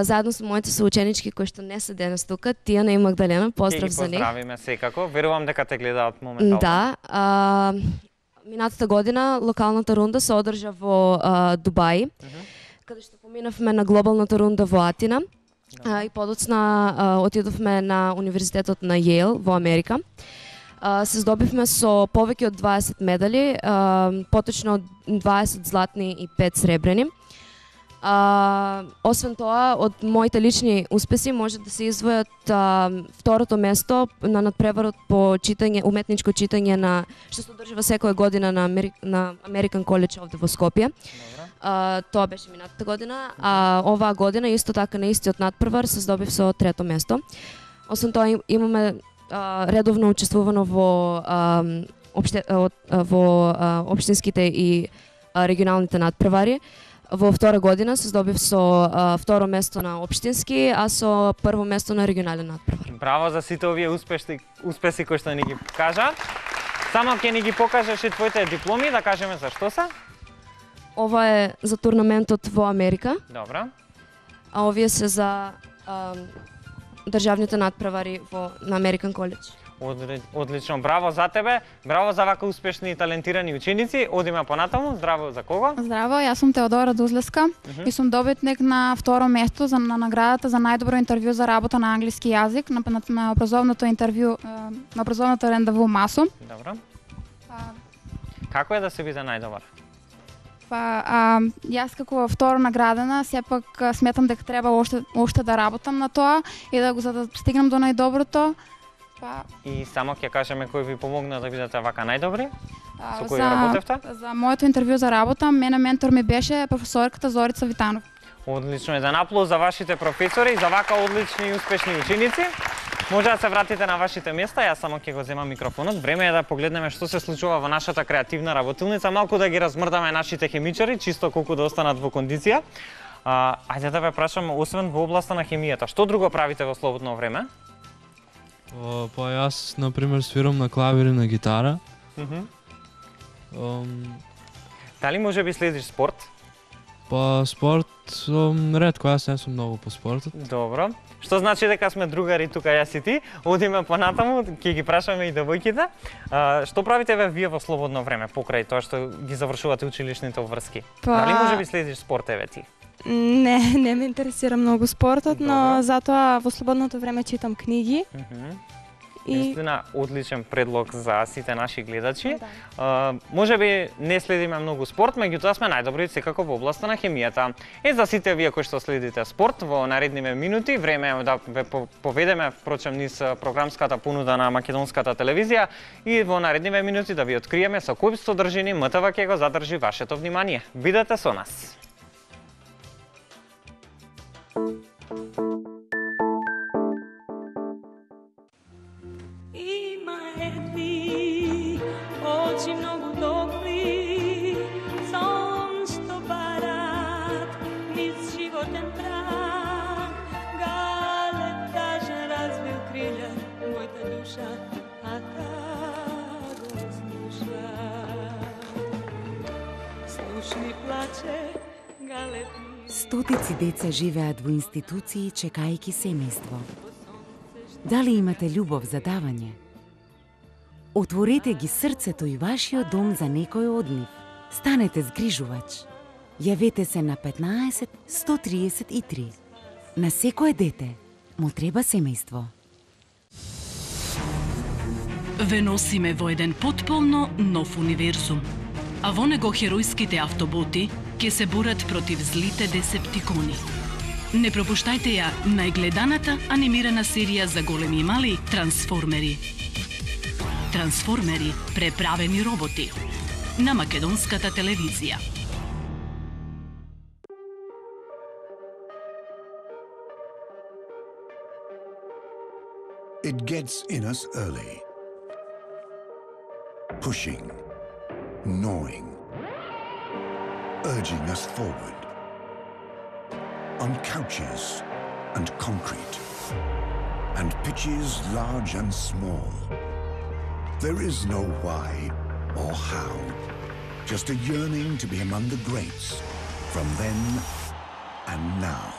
Заедно со моите соученички кои што не се денес тука, Тијана и Магдалена, поздрав за нив. Ќе ги поздравиме секако. Верувам дека те гледаат моментално. Да. Минатата година локалната рунда се одржа во Дубај, каде што поминавме на глобалната рунда во Атина. И подоцна отидовме на Универзитетот на Јейл во Америка. Се здобивме со повеќе од 20 медали, поточно 20 златни и 5 сребрени. Освен тоа, од моите лични успеси може да се издвојат второто место на надпреварот по читање, уметничко читање на што се одржува секоја година на American College овде во Скопје. Тоа беше минатата година, а оваа година исто така на истиот надпревар се здобив со трето место. Освен тоа имаме редовно учествувано во општинските и регионалните надпревари. Во втора година се здобив со второ место на општински, а со прво место на регионален надпревар. Браво за сите овие успеси кои што ни ги кажа. Само ќе ни ги покажеш и твоите дипломи, да кажеме за што се? Ова е за турнаментот во Америка. Добра. А овие се за државните надпревари на American College. Одлично, браво за тебе, браво за вака успешни и талентирани ученици. Одиме понатаму, здраво за кого? Здраво, јас сум Теодора Дузлеска и сум добитник на второ место на наградата за најдобро интервју за работа на англиски јазик на образовното интервју, на образовното рендеву МАСО. Добро. Како е да се биде најдобар? Јас како второ наградена, сепак сметам дека треба уште да работам на тоа и за да стигнам до најдоброто. И само ќе кажеме кој ви помогна да бидете вака најдобри? Со кој работевте? За моето интервју за работа, мене ментор ми беше професорката Зорица Витанов. Одлично, еден аплауз за вашите професори и за вака одлични и успешни ученици. Може да се вратите на вашите места, јас само ќе го земам микрофонот. Време е да погледнеме што се случува во нашата креативна работилница, малку да ги размрдаме нашите хемичари, чисто колку да останат во кондиција. Ајде да ве прашам, освен во областа на хемијата, што друго правите во слободно време? Па јас, например, свирам на клавир и на гитара. Дали може би следиш спорт? Па спорт, ретко, јас не сум многу по спортот. Добро. Што значи дека сме другари тука јас и ти. Одиме понатаму, ќе ги прашаме и девојките. Што правите вие во слободно време покрај тоа што ги завршувате училишните обврски? Дали може би следиш спорт еве ти? Не ме интересира многу спортот, но затоа во слободното време читам книги. Наистина одличен предлог за сите наши гледачи. Може би не следиме многу спорт, меѓутоа сме најдобри секако во областа на хемијата. И за сите вие кои што следите спорт во наредниве минути, време е да ве поведеме впрочем низ програмската понуда на македонската телевизија и во наредниве минути да ви откриеме со кои содржини МТВ ќе го задржи вашето внимание. Бидете со нас. Има едни очи многу добри, сон што барат низ животен прах. Галеб тажен развил крилја, мојата душа, а та го слуша. Слушни плаче, галеб. Стотици деца живеат во институции чекајќи семејство. Дали имате љубов за давање? Отворете ги срцето и вашиот дом за некој од нив. Станете згрижувач. Јавете се на 15 133. На секое дете му треба семејство. Ве носиме во еден потполно нов универзум. А во него херојските автоботи ќе се борат против злите десептикони. Не пропуштајте ја најгледаната анимирана серија за големи и мали Трансформери. Трансформери, преправени роботи. На македонската телевизија. It gets in us early. Pushing, gnawing, urging us forward. On couches and concrete, and pitches large and small. There is no why or how, just a yearning to be among the greats from then and now.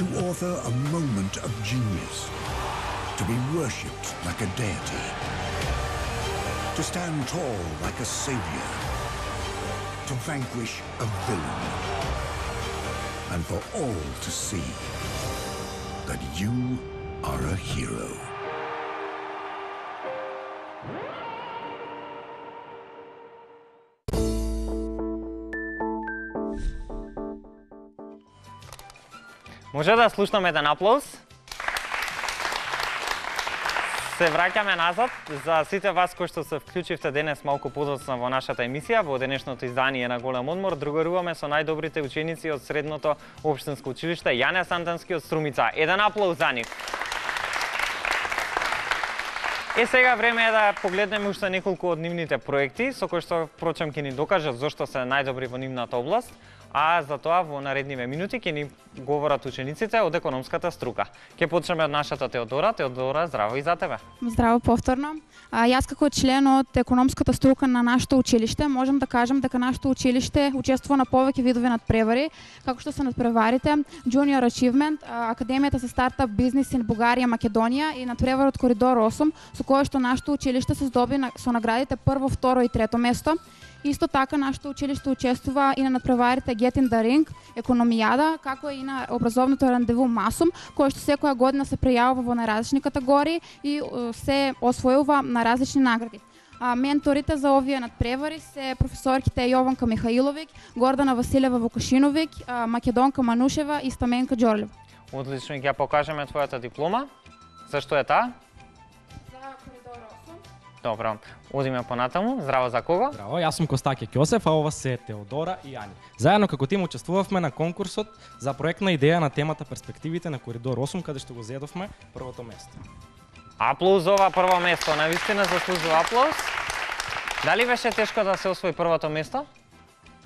To author a moment of genius, to be worshipped like a deity, to stand tall like a savior, to vanquish a villain, and for all to see that you are a hero. Може да слушнаме еден аплауз? Се враќаме назад за сите вас кои што се вклучивте денес малку подоцна во нашата емисија, во денешното издание на Голем одмор. Другаруваме со најдобрите ученици од средното општинско училиште Јане Сандански од Струмица. Еден аплауз за нив. Сега време е да погледнеме уште неколку од нивните проекти, со кои што впрочем ќе ни докажат зошто се најдобри во нивната област. А за тоа во наредниве минути ќе ни говорат учениците од економската струка. Ќе почнеме од нашата Теодора. Теодора, здраво и за тебе. Здраво повторно. Јас како член од економската струка на нашето училиште можам да кажам дека нашето училиште учествува на повеќе видови надпревари, како што се надпреварите Junior Achievement, Академијата за стартап бизнис in Бугарија, Македонија и надпреварот Коридор 8, со кој што нашето училиште се здоби со наградите прво, второ и трето место. Исто така, нашето училиште учествува и на надпреварите Get in the Ring, Економијада, како и на образовното рандеву Масум, кој што секоја година се пријавува во најразлични категории и се освојува на различни награди. Менторите за овие надпревари се професорките Јованка Михаиловиќ, Гордана Василева Вукашиновиќ, Македонка Манушева и Стаменка Ѓорлева. Одлично, ќе покажеме твојата диплома. Зашто е таа? Добро, одиме понатаму. Здраво, за кого? Здраво, јас сум Костаке Ќосев, а ова се Теодора и Јани. Заедно како тим учествувавме на конкурсот за проектна идеја на темата Перспективите на Коридор 8, каде што го зедовме првото место. Аплауз за ова прво место, навистина заслужува аплауз. Дали беше тешко да се освои првото место?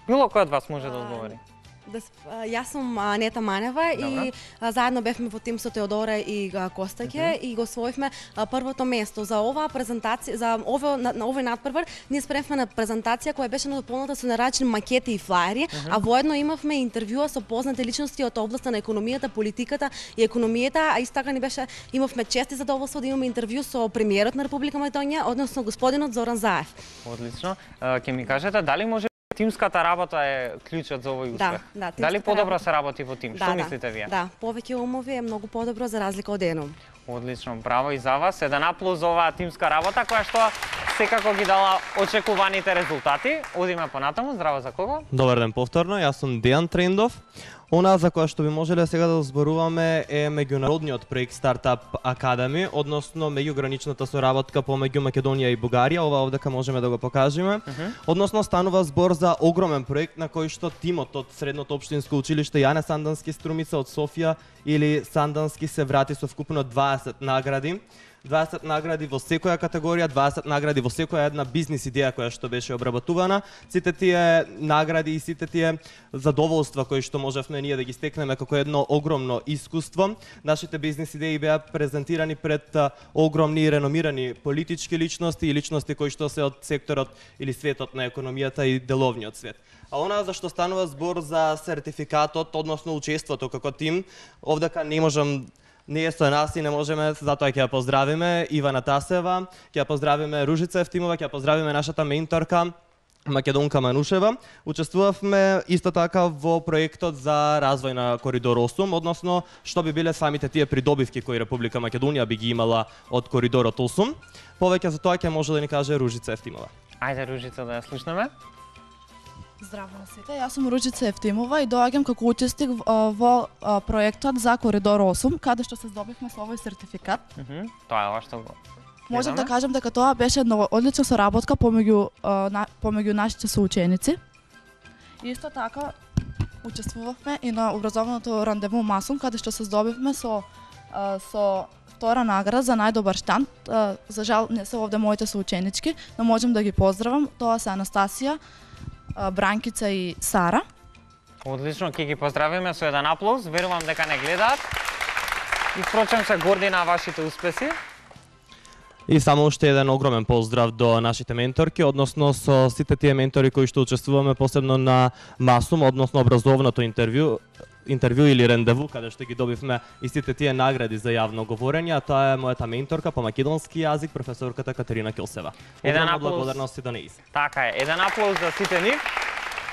Било кој од вас може да одговори? Јас сум Нета Манева и заедно бевме во тим со Теодора и Костаке и го освоивме првото место. За оваа презентација, за овој надпревар, ние спремавме на презентација која беше надополната со наразлични макети и флаери, а воедно имавме интервјуа со познати личности од областа на економијата, политиката и економијата, а исто така имавме чест и задоволство да имаме интервју со премиерот на Република Македонија, односно господинот Зоран Заев. Одлично. Ќе ми кажете дали може тимската работа е клучот за овој успех? Да, дали подобро се работи во тим? Што мислите вие? Да, повеќе умови е многу подобро за разлика од едно. Одлично, браво и за вас. Еден аплауз за оваа тимска работа која што секако ги дала очекуваните резултати. Одиме понатаму. Здраво, за кого? Добар ден повторно. Јас сум Дејан Трендов. Она за која што би можеле сега да зборуваме е меѓународниот проект Startup Academy, односно меѓуграничната соработка помеѓу Македонија и Бугарија. Ова овдека можеме да го покажеме. Односно станува збор за огромен проект на кој што тимот од средното општинско училиште Јане Сандански Струмица од Софија или Сандански се врати со вкупно 20 награди. 20 награди во секоја категорија, 20 награди во секоја една бизнис идеја која што беше обработувана. Сите тие награди и сите тие задоволства кои што можевме ние да ги стекнеме како едно огромно искуство. Нашите бизнис идеи беа презентирани пред огромни и реномирани политички личности и личности кои што се од секторот или светот на економијата и деловниот свет. А она за што станува збор за сертификатот, односно учеството како тим, овдека не е со нас и не можеме, затоа ќе ја поздравиме Ивана Тасева, ќе ја поздравиме Ружица Ефтимова, ќе ја поздравиме нашата менторка Македонка Манушева. Учествувавме исто така во проектот за развој на Коридор 8, односно што би биле самите тие придобивки кои Република Македонија би ги имала од Коридорот 8. Повеќе за тоа ќе може да ни каже Ружица Ефтимова. Ајде Ружица да ја слушнеме. Здраво на сите, јас сум Ружица Ефтимова и доаѓам како учесник во проектот за Коридор 8, каде што се здобивме со овој сертификат. Тоа е ова што го Можам да кажам дека тоа беше една одлична соработка помеѓу нашите соученици. Исто така учествувавме и на образовното рандеву Масум, каде што се здобивме со втора награда за најдобар штанд. За жал не се овде моите соученички, но можам да ги поздравам. Тоа се Анастасија, Бранкица и Сара. Одлично, ќе ги поздравиме со еден аплауз. Верувам дека не гледаат. И впрочем се горди на вашите успеси. И само уште еден огромен поздрав до нашите менторки, односно со сите тие ментори кои што учествуваме посебно на Масум, односно образовното интервју или рандеву, каде што ги добивме и сите тие награди за јавно говорење. Тоа е мојата менторка по македонски јазик, професорката Катерина Килсева. Еден аплауз. Благодарности до нејз. Така е, еден аплауз за сите нив.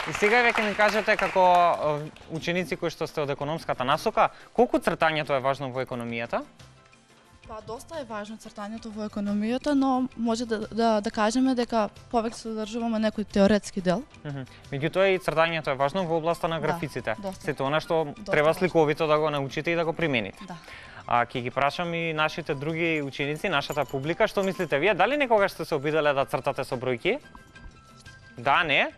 И сега веќе ми кажете како ученици кои што сте од економската насока, колку цртањето е важно во економијата? Па доста е важно цртањето во економијата, но може да кажеме дека повеќе се задржуваме некој теоретски дел. Меѓутоа и цртањето е важно во областа на графиците. Сето она што треба сликовито да го научите и да го примените. Ќе ги прашам и нашите други ученици, нашата публика, што мислите вие? Дали некогаш сте се обиделе да цртате со бројки? Да, не?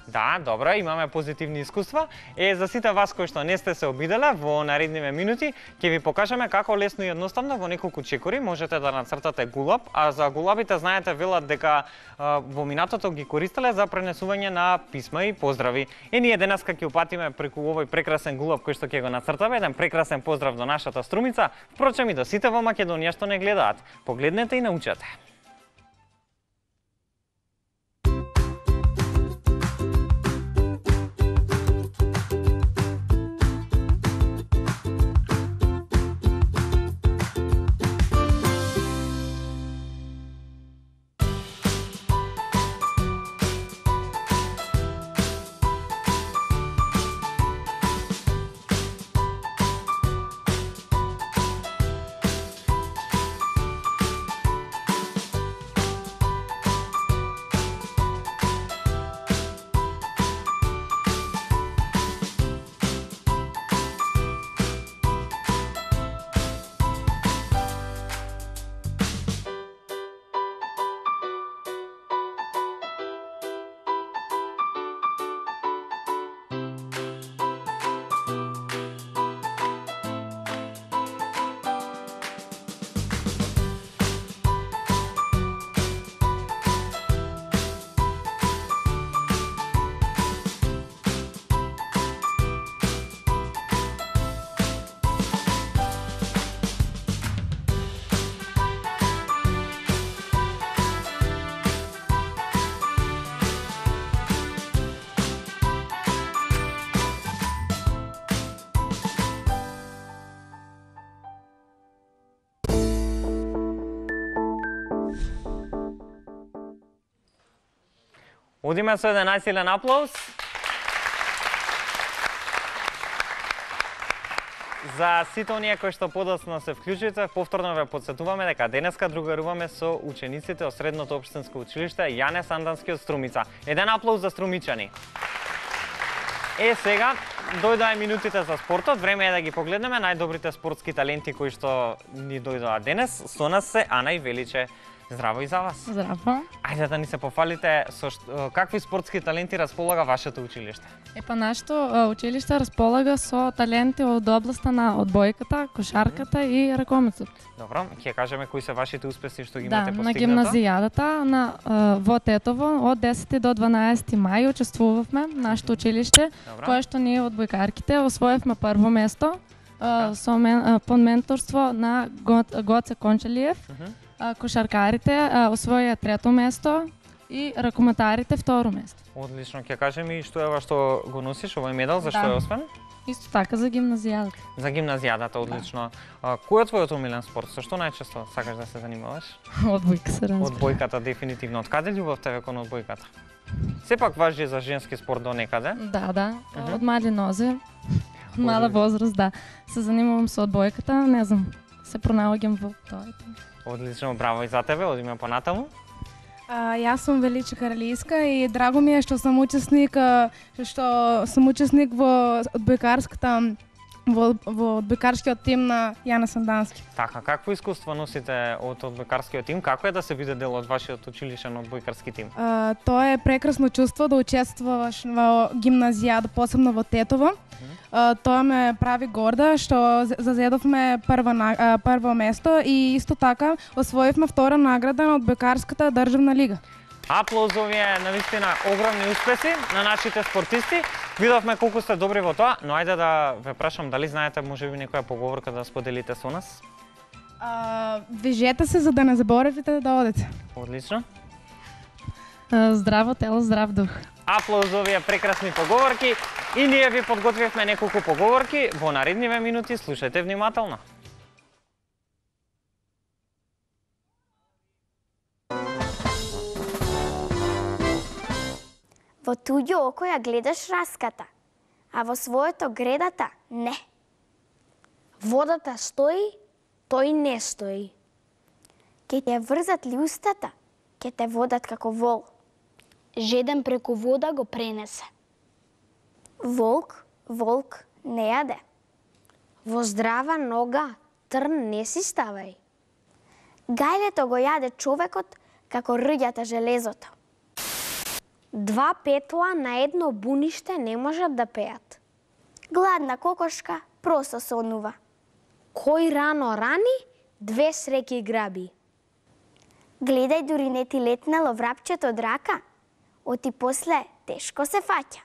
Да, добро, имаме позитивни искуства. За сите вас кои што не сте се обиделе, во наредниве минути ќе ви покажеме како лесно и едноставно во неколку чекори можете да нацртате гулаб, а за гулабите знаете велат дека во минатото ги користеле за пренесување на писма и поздрави. Ние денеска ќе упатиме преку овој прекрасен гулаб кој што ќе го нацртаме, еден прекрасен поздрав до нашата Струмица, впрочем и до сите во Македонија што не гледаат. Погледнете и научете. Одиме со еден најсилен аплауз. За сите оние кои што подоцна се вклучите, повторно ве потсетуваме дека денеска другаруваме со учениците од Средното општинско училиште Јане Сандански од Струмица. Еден аплауз за струмичани. Сега дојдоа минутите за спортот, време е да ги погледнеме најдобрите спортски таленти кои што ни дојдоа денес. Со нас се Ана и Величе. Здраво и за вас. Здраво. Ајде да ни се пофалите со какви спортски таленти располага вашето училиште? Нашето училиште располага со таленти од областа на одбојката, кошарката и ракомецот. Добро, ќе кажеме кои се вашите успеси што ги имате постигнато? На гимназијадата во Тетово од 10 до 12 мај учествувавме нашето училиште, кое што ние одбојкарките освоевме прво место под менторство на Гоце Кончалиев. Кошаркарите освоија трето место и ракометарите второ место. Одлично, ќе кажем и што е ова што го носиш, овој медал, за што е освен? Исто така за гимназијадата. За гимназијадата, одлично. Кој е твојот омилен спорт? Со што најчесто сакаш да се занимаваш? Одбојка се разбира. Одбојката дефинитивно. Од каде љубовта ве кон одбојката? Сепак важи за женски спорт до некаде? Да. Од мали нозе, мала возраст, да. Се занимавам со одбојката, не знам, се пронаоѓам во тоа. Одлично, браво и за тебе, одиме понатаму. Јас сум Величе Каралијска и драго ми е што сум учесник во одбојкарската во одбојкарскиот тим на Јана Сандански. Така, какво искуство носите од одбојкарскиот тим? Како е да се биде дел од вашиот училишен одбојкарски тим? Тоа е прекрасно чувство да учествуваш во гимназијада, посебно во Тетово. Тоа ме прави горда што зазедовме прво место и исто така освоивме втора награда на одбојкарската државна лига. Аплаузови е навистина огромни успеси на нашите спортисти. Видовме колку сте добри во тоа, но ајде да ве прашам дали знаете можеби некоја поговорка да споделите со нас? Вежете се за да не заборавите да одите. Одлично. Здраво тело, здрав дух. Аплаузови е прекрасни поговорки и ние ви подготвивме неколку поговорки во наредниве минути, слушајте внимателно. Во туѓо око ја гледаш раската, а во своето гредата не. Водата стои, тој не стои. Ке те врзат ли устата, ке те водат како вол. Жеден преку вода го пренесе. Волк, волк не јаде. Во здрава нога трн не си ставај. Гајлето го јаде човекот како рѓата железото. Два петла на едно буниште не можат да пеат. Гладна кокошка просто сонува. Кој рано рани, две среќи граби. Гледај дури не ти летнело врапчето од рака, оти после тешко се фаќа.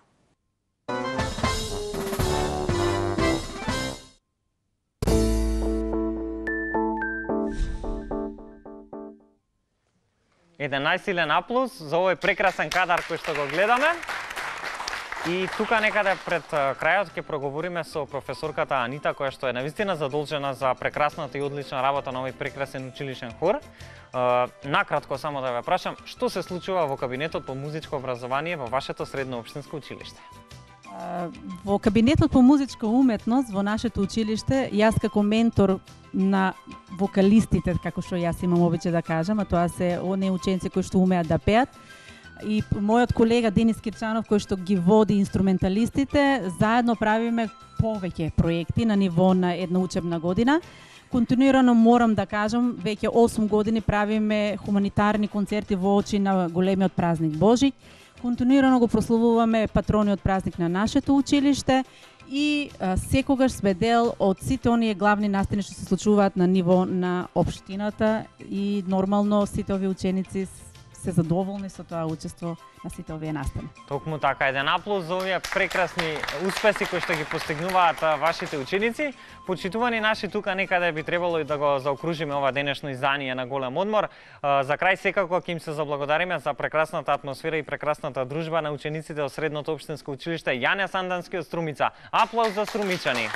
Еден најсилен аплауз за овој прекрасен кадар кој што го гледаме. И тука некаде пред крајот ќе проговориме со професорката Анита, која што е навистина задолжена за прекрасната и одлична работа на овој прекрасен училишен хор. Накратко само да ве прашам, што се случува во кабинетот по музичко образование во вашето средно општинско училиште? Во кабинетот по музичка уметност во нашето училиште, јас како ментор на вокалистите, како што јас имам обичај да кажам, а тоа се оние ученици кои што умеат да пеат, и мојот колега Денис Кирчанов кој што ги води инструменталистите, заедно правиме повеќе проекти на ниво на една учебна година. Континуирано морам да кажам, веќе 8 години правиме хуманитарни концерти во очи на големиот празник Божик. Континуирано го прославуваме патрониот празник на нашето училиште и секогаш сме дел од сите оние главни настани што се случуваат на ниво на општината и нормално сите овие ученици се задоволни со тоа учество на сите овие настани. Токму така, еден аплауз за овие прекрасни успеси кои што ги постигнуваат вашите ученици. Почитувани наши, тука некаде би требало и да го заокружиме ова денешно издание на Голем одмор. За крај секако ќе им се заблагодариме за прекрасната атмосфера и прекрасната дружба на учениците од Средното општинско училиште Јане Сандански од Струмица. Аплауз за струмичани.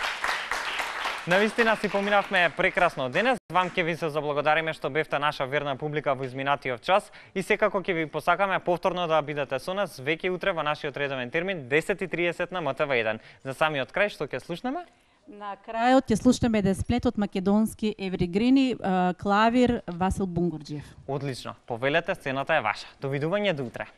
Навистина си поминавме прекрасно денес. Вам ќе ви се заблагодариме што бевте наша верна публика во изминатиот час и секако ќе ви посакаме повторно да бидете со нас веќе утре во нашиот редовен термин 10:30 на МТВ1. За самиот крај што ќе слушнеме? На крајот ќе слушнеме еден сплет од македонски евригрини, клавир Васил Бунгурџиев. Одлично. Повелете, сцената е ваша. Довидување до утре.